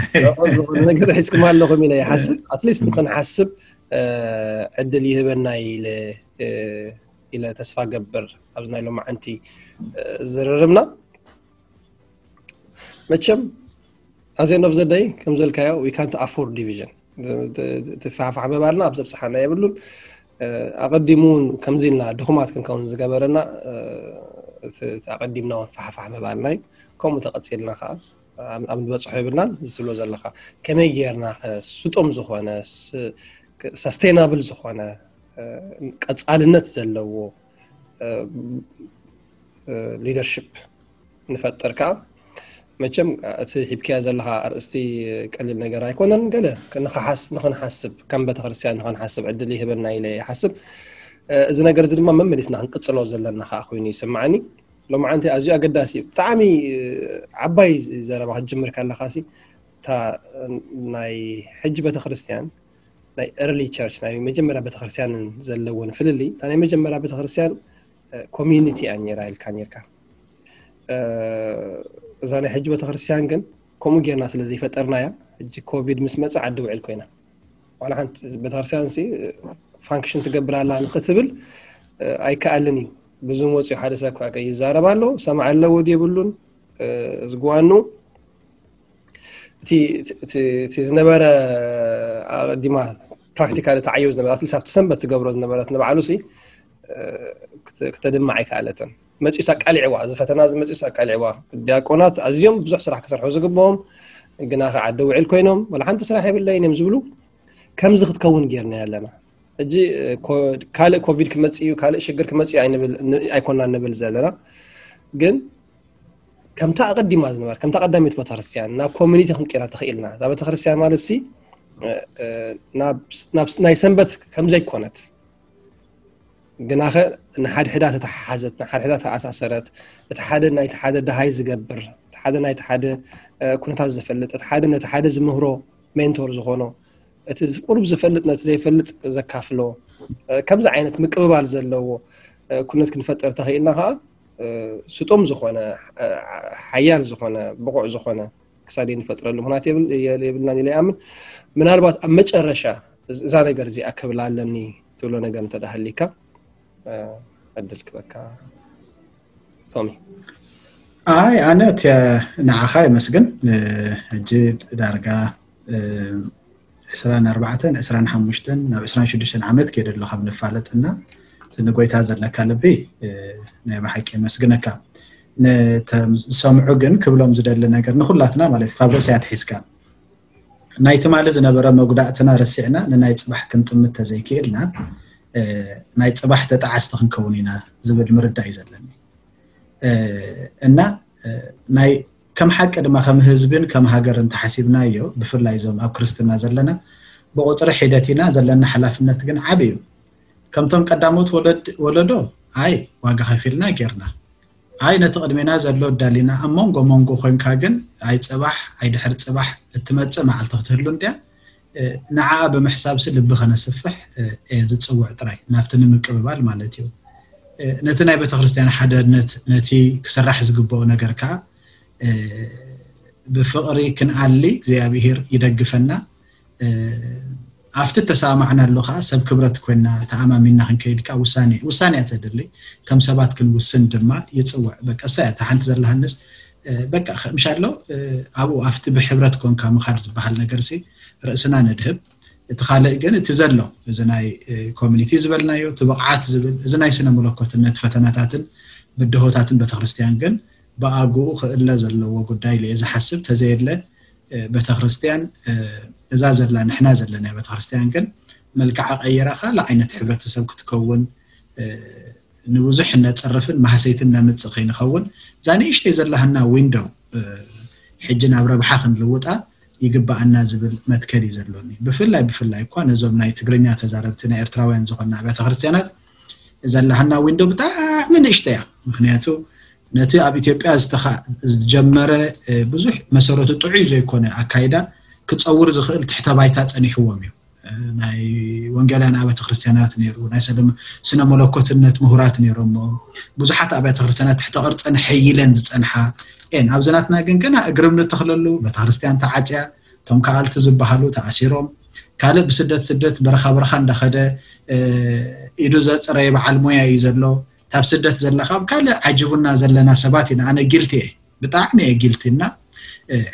ዝኾነ ነገር ሒዝኩም ኣለኹም ኢለ ይሓስብ። ኣትሊስት ንክንሓስብ ዕድል ይህበና ኢለ ኢለ ተስፋ ገብር። ኣብዚ ናይ ሎማዓንቲ ዝርርብና መቸም ኣዜኖብ ዘደይ ከም ዘልካዮ we can't afford division። ትፋሕፋሕ ምባልና ኣብ ዘብፅሓና የብሉን። ኣቐዲሙ እውን ከምዚ ኢልና ድኹማት ክንከውን ዝገበረና ኣቐዲምና እውን ፋሕፋሕ ምባልና እዩ። ከምኡ ተቐፂልና ከዓ ኣብ ንበፅሖ የብልናን። ዝብሎ ዘለካ ከመይ ጌርና ስጡም ዝኾነ ሳስቴናብል ዝኾነ ቀፃልነት ዘለዎ ሊደርሽፕ ንፈጥር ከዓ መቸም እቲ ሂብክያ ዘለካ ኣርእስቲ ቀሊል ነገር ኣይኮነን። ገለ ንክሓስ ንክንሓስብ ከም ቤተክርስትያን ንክንሓስብ ዕድል ይህበና ኢለ ይሓስብ። እዚ ነገር እዚ ድማ መመሊስና ክንቅፅሎ ዘለና ከዓ ኮይኑ ይስማዓኒ። ሎማዓንቲ ኣዝዩ ኣገዳሲ እዩ። ብጣዕሚ ዓባይ ዘረባ ክትጅምር ከለካ ሲ እታ ናይ ሕጂ ቤተክርስትያን ናይ ኤርሊ ቸርች ናይ መጀመርያ ቤተክርስትያንን ዘለውን ፍልልይ እታ ናይ መጀመርያ ቤተክርስትያን ኮሚዩኒቲ እያ ነራ ኢልካ ነርካ። እዛ ናይ ሕጂ ቤተክርስትያን ግን ከምኡ ጌርና ስለ ዘይፈጠርናያ ሕጂ ኮቪድ ምስ መፀ ዓዲ ውዕል ኮይና ዋላ ሓንቲ ቤተክርስትያን ሲ ፋንክሽን ትገብር ኣላ ንክትብል ኣይከኣልን እዩ። ብዙም ወፂኡ ሓደ ሰብ ከዓ ይዛረብ ኣሎ ሰማዕ ኣለዎ የብሉን ዝግዋኑ እቲ ዝነበረ ኣቐዲማ ፕራክቲካል ተዓየው ዝነበረ ኣትሊስ ኣብቲ ሰንበት ትገብሮ ዝነበረት ንባዕሉ ሲ ክተድምዕ ኣይከኣለትን። መፂኡስ ኣቃሊዕዋ እዚ ፈተና እዚ መፂኡስ ኣቃሊዕዋ። ዲያቆናት ኣዝዮም ብዙሕ ስራሕ ክሰርሑ ዝግብኦም ግና ከዓ ዓዲ ውዕል ኮይኖም ወላ ሓንቲ ስራሕ የብለይን እዮም ዝብሉ ከምዚ ክትከውን ጌርና ኣለና። ሕጂ ካልእ ኮቪድ ክመፅእ እዩ ካልእ ሽግር ክመፅእ እዩ ኣይኮና ንብል ዘለና ግን ከምታ ኣቐዲማ ዝነበረ ከምታ ቀዳሚት ቤተክርስትያን ናብ ኮሚኒቲ ክንቀይራ ተኽኢልና። እዛ ቤተክርስትያን ማለት ሲ ናይ ሰንበት ከምዘይኮነት ግናኸ ንሓድሕዳ ተተሓሓዘት ንሓድሕዳ ተኣሳሰረት። እቲ ሓደ ናይቲ ሓደ ደሃይ ዝገብር እቲ ሓደ ናይቲ ሓደ ኩነታት ዝፈልጥ እቲ ሓደ ነቲ ሓደ ዝምህሮ ሜንቶር ዝኾኖ እቲ ቁሩብ ዝፈልጥ ነቲ ዘይፈልጥ ዘካፍሎ ከምዚ ዓይነት ምቅብባል ዘለዎ ኩነት ክንፈጥር ተኽኢልና ከዓ ስጡም ዝኾነ ሓያል ዝኾነ ብቑዕ ዝኾነ ክሳድ ንፈጥረሉ ምክንያት የብልናን ኢለ ይኣምን። ምናልባት ኣብ መጨረሻ እዛ ነገር እዚኣ ክብል ኣለኒ ትብሎ ነገር እንተዳሃሊካ ዕድል ክበካ ቶሚ። ኣይ ኣነ ንዓኻ ይመስግን። ሕጂ ዳርጋ ዕስራን ኣርባዕተን ዕስራን ሓሙሽተን ናብ ዕስራን ሽዱሽተን ዓመት ከይደ ኣሎ ካብ ንፋለጥ እና እቲ ንጎይታ ዘለካ ልቢ ናይ ብሓቂ የመስግነካ። ንተሰምዑ ግን ክብሎም ዝደሊ ነገር ንኩላትና ማለት ካብ ርእሲ ኣትሒዝካ ናይ ትማሊ ዝነበረ መጉዳእትና ረሲዕና ንናይ ፅባሕ ክንጥምት ተዘይክእልና ናይ ፅባሕ ተጣዓስቲ ክንከውን ኢና ዝብል ምርዳእ እዩ ዘለኒ። እና ናይ ከም ሓቂ ድማ ከም ህዝብን ከም ሃገር እንተሓሲብናዮ ብፍላይ እዞም ኣብ ክርስትና ዘለና ብቁፅሪ ሒደት ኢና ዘለና ሓላፍነት ግን ዓብ እዩ። ከምቶም ቀዳሞት ወለዶ ኣይ ዋጋ ከፊልና ጌርና ኣይ ነቲ ቅድሜና ዘሎ ኣዳሊና ኣብ መንጎ መንጎ ኮይንካ ግን ኣይ ፅባሕ ኣይ ድሕር ፅባሕ እትመፅእ መዓልቲ ክትህሉ እንድያ። ንዓኣ ብምሕሳብሲ ልቢ ከነስፍሕ ዝፅውዕ ጥራይ ናብቲ ንምቅብባል ማለት እዩ። ነቲ ናይ ቤተክርስትያን ሓደነት ነቲ ክስራሕ ዝግብኦ ነገር ከዓ ብፍቕሪ ክንኣሊ እግዚኣብሄር ይደግፈና። ኣብቲ ተሰማማዕናሉ ከዓ ሰብ ክብረት ኮይና ተኣማሚና ክንከይድ ከዓ ውሳኔ ውሳኔ እያ ተድሊ። ከም ሰባት ክንውስን ድማ ይፅውዕ። በቃ እሳ እያ እታ ሓንቲ ዘለሃንስ በቃ ምሻሎ ኣብኡ ኣብቲ ብሕብረት ኮንካ ምኻድ ዝበሃል ነገር ሲ ርእስና ነድህብ። እቲ ካልእ ግን እቲ ዘሎ እዚ ናይ ኮሚኒቲ ዝበልናዮ እቲ ብቕዓት ዝብል እዚ ናይ ስነ መለኮትነት ፈተናታትን ብድሆታትን ቤተክርስትያን ግን ብኣግኡ ክእለ ዘለዎ ጉዳይ ኢለ እየ ዝሓስብ። ተዘየለ ቤተክርስትያን እዛ ዘላ ንሕና ዘለና ቤተክርስትያን ግን መልክዓ ቀይራ ካልእ ዓይነት ሕብረተሰብ ክትከውን ንብዙሕ እነፅርፍን ማህሰይትን ነምፅእ ከይንኸውን እዛ ንእሽተይ ዘለሃና ዊንዶው ሕጂ ናብ ረብሓ ክንልውጣ ይግባኣና ዝብል መትከል እዩ ዘሎኒ። ብፍላይ ብፍላይ እኳ ነዞም ናይ ትግርኛ ተዛረብቲ ናይ ኤርትራውያን ዝኾና ኣብያተ ክርስትያናት ዘለሃና ዊንዶ ብጣዕሚ ንእሽተ እያ። ምክንያቱ ነቲ ኣብ ኢትዮጵያ ዝተኻ- ዝጀመረ ብዙሕ መሰረቱ ጥዑይ ዘይኮነ ኣካይዳ ክፀውር ዝኽእል ትሕተ ባይታ ፀኒሕዎም እዩ። ናይ ወንጌላውያን ኣብያተ ክርስትያናት ነይሩ፣ ናይ ሰለም- ስነ መለኮትነት ምሁራት ነይሮሞ። ብዙሓት ኣብያተ ክርስትያናት ትሕተ ቅርፀን ሐይለን ዝፀንሓ እየን። ኣብዚ ናትና ግን ገና እግርም ንተኽለሉ ቤተክርስትያን ተዓፅያ፣ እቶም ከኣልቲ ዝበሃሉ ተኣሲሮም፣ ካልእ ብስደት ስደት በረኻ በረኻ እንዳኸደ ኢዱ ዘፅረየ በዓል ሞያ እዩ ዘሎ። ታብ ስደት ዘለኻ ኣብ ካልእ ዓጅቡና ዘለና ሰባት ኢና። ኣነ ጊልቲ እየ፣ ብጣዕሚ እየ ጊልቲ እና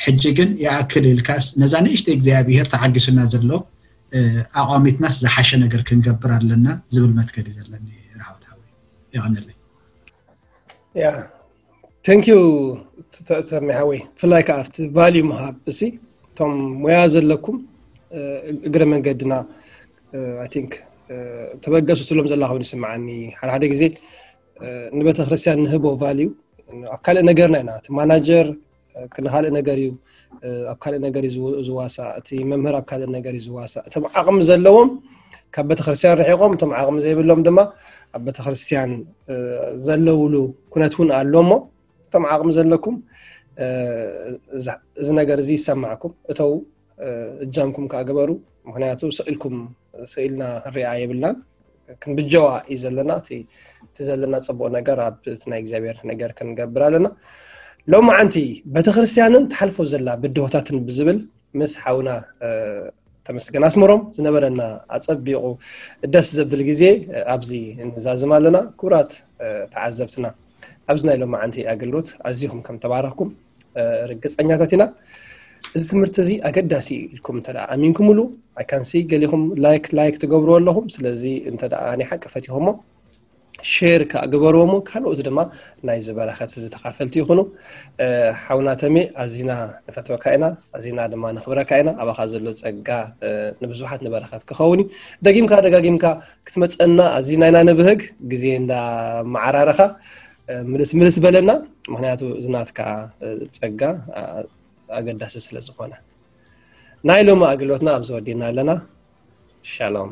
ሕጂ ግን ይኣክል ኢልካስ ነዛ ንእሽተ እግዚኣብሄር ተዓጊሱና ዘሎ ኣቋሚትናስ ዝሓሸ ነገር ክንገብር ኣለና ዝብል መትከል እዩ ዘለኒ። ርሃወት ሃወይ ይቐንለይ። ያ thank you ተሚሓወይ። ብፍላይ ከዓ ኣብቲ ቫልዩ ምሃብ እሲ እቶም ሞያ ዘለኩም እግረ መንገድና I think ተበገሱ ትብሎም ዘላ ኮይኑ ይስምዓኒ። ሓደ ሓደ ግዜ ንቤተ ክርስቲያን ንህቦ ቫልዩ ኣብ ካልእ ነገርና ኢና። እቲ ማናጀር ንካልእ ነገር እዩ ኣብ ካልእ ነገር እዩ ዝዋሳእ፣ እቲ መምህር ኣብ ካልእ ነገር እዩ ዝዋሳእ። እቶም ዓቕሚ ዘለዎም ካብ ቤተክርስትያን ርሒቖም፣ እቶም ዓቕሚ ዘይብሎም ድማ ኣብ ቤተክርስትያን ዘለውሉ ኩነት እውን ኣሎ። እሞ እቶም ዓቕሚ ዘለኩም እዚ ነገር እዚ ይሰማዕኩም እተው፣ እጃምኩም ከዓ ግበሩ። ምክንያቱ ስኢልኩም ስኢልና ክንሪኣ የብልናን። ክንብጀዋ እዩ ዘለና። እቲ ዘለና ፅቡቅ ነገር ኣብ ናይ እግዚኣብሔር ነገር ክንገብር ኣለና። ሎማዓንቲ ቤተክርስትያንን ትሓልፎ ዘላ ብድሆታትን ብዝብል ምስ ሓውና ተመስገን ኣስመሮም ዝነበረና ኣፀቢቑ ደስ ዘብል ግዜ ኣብዚ ንዛዝም ኣለና። ክቡራት ተዓዘብትና ኣብዚ ናይ ሎማዓንቲ ኣገልግሎት ኣዚኹም ከም ተባረኽኩም ርግፀኛታት ኢና። እዚ ትምህርቲ እዚ ኣገዳሲ ኢልኩም እንተ ኣሚንኩምሉ ኣይካንሲ ገሊኹም ላይክ ላይክ ትገብሩ ኣለኹም። ስለዚ እንተ ናይ ሓቂ ፈቲኹሞ ሼር ከዓ ግበርዎሞ ካልኦት ድማ ናይዚ በረኸት እዚ ተካፈልቲ ይኹኑ። ሓውና ተሜ ኣዚና ንፈትወካ ኢና፣ ኣዚና ድማ ንኽብረካ ኢና። ኣባኻ ዘሎ ፀጋ ንብዙሓት ንበረኸት ክኸውን እዩ። ደጊምካ ደጋጊምካ ክትመፀና ኣዚና ኢና ንብህግ ግዜ እንዳመዓራረኻ ምልስ ምልስ በለና። ምክንያቱ እዚ ናትካ ፀጋ ኣገዳሲ ስለ ዝኾነ ናይ ሎሚ ኣገልግሎትና ኣብዚ ወዲና ኣለና። ሻሎም።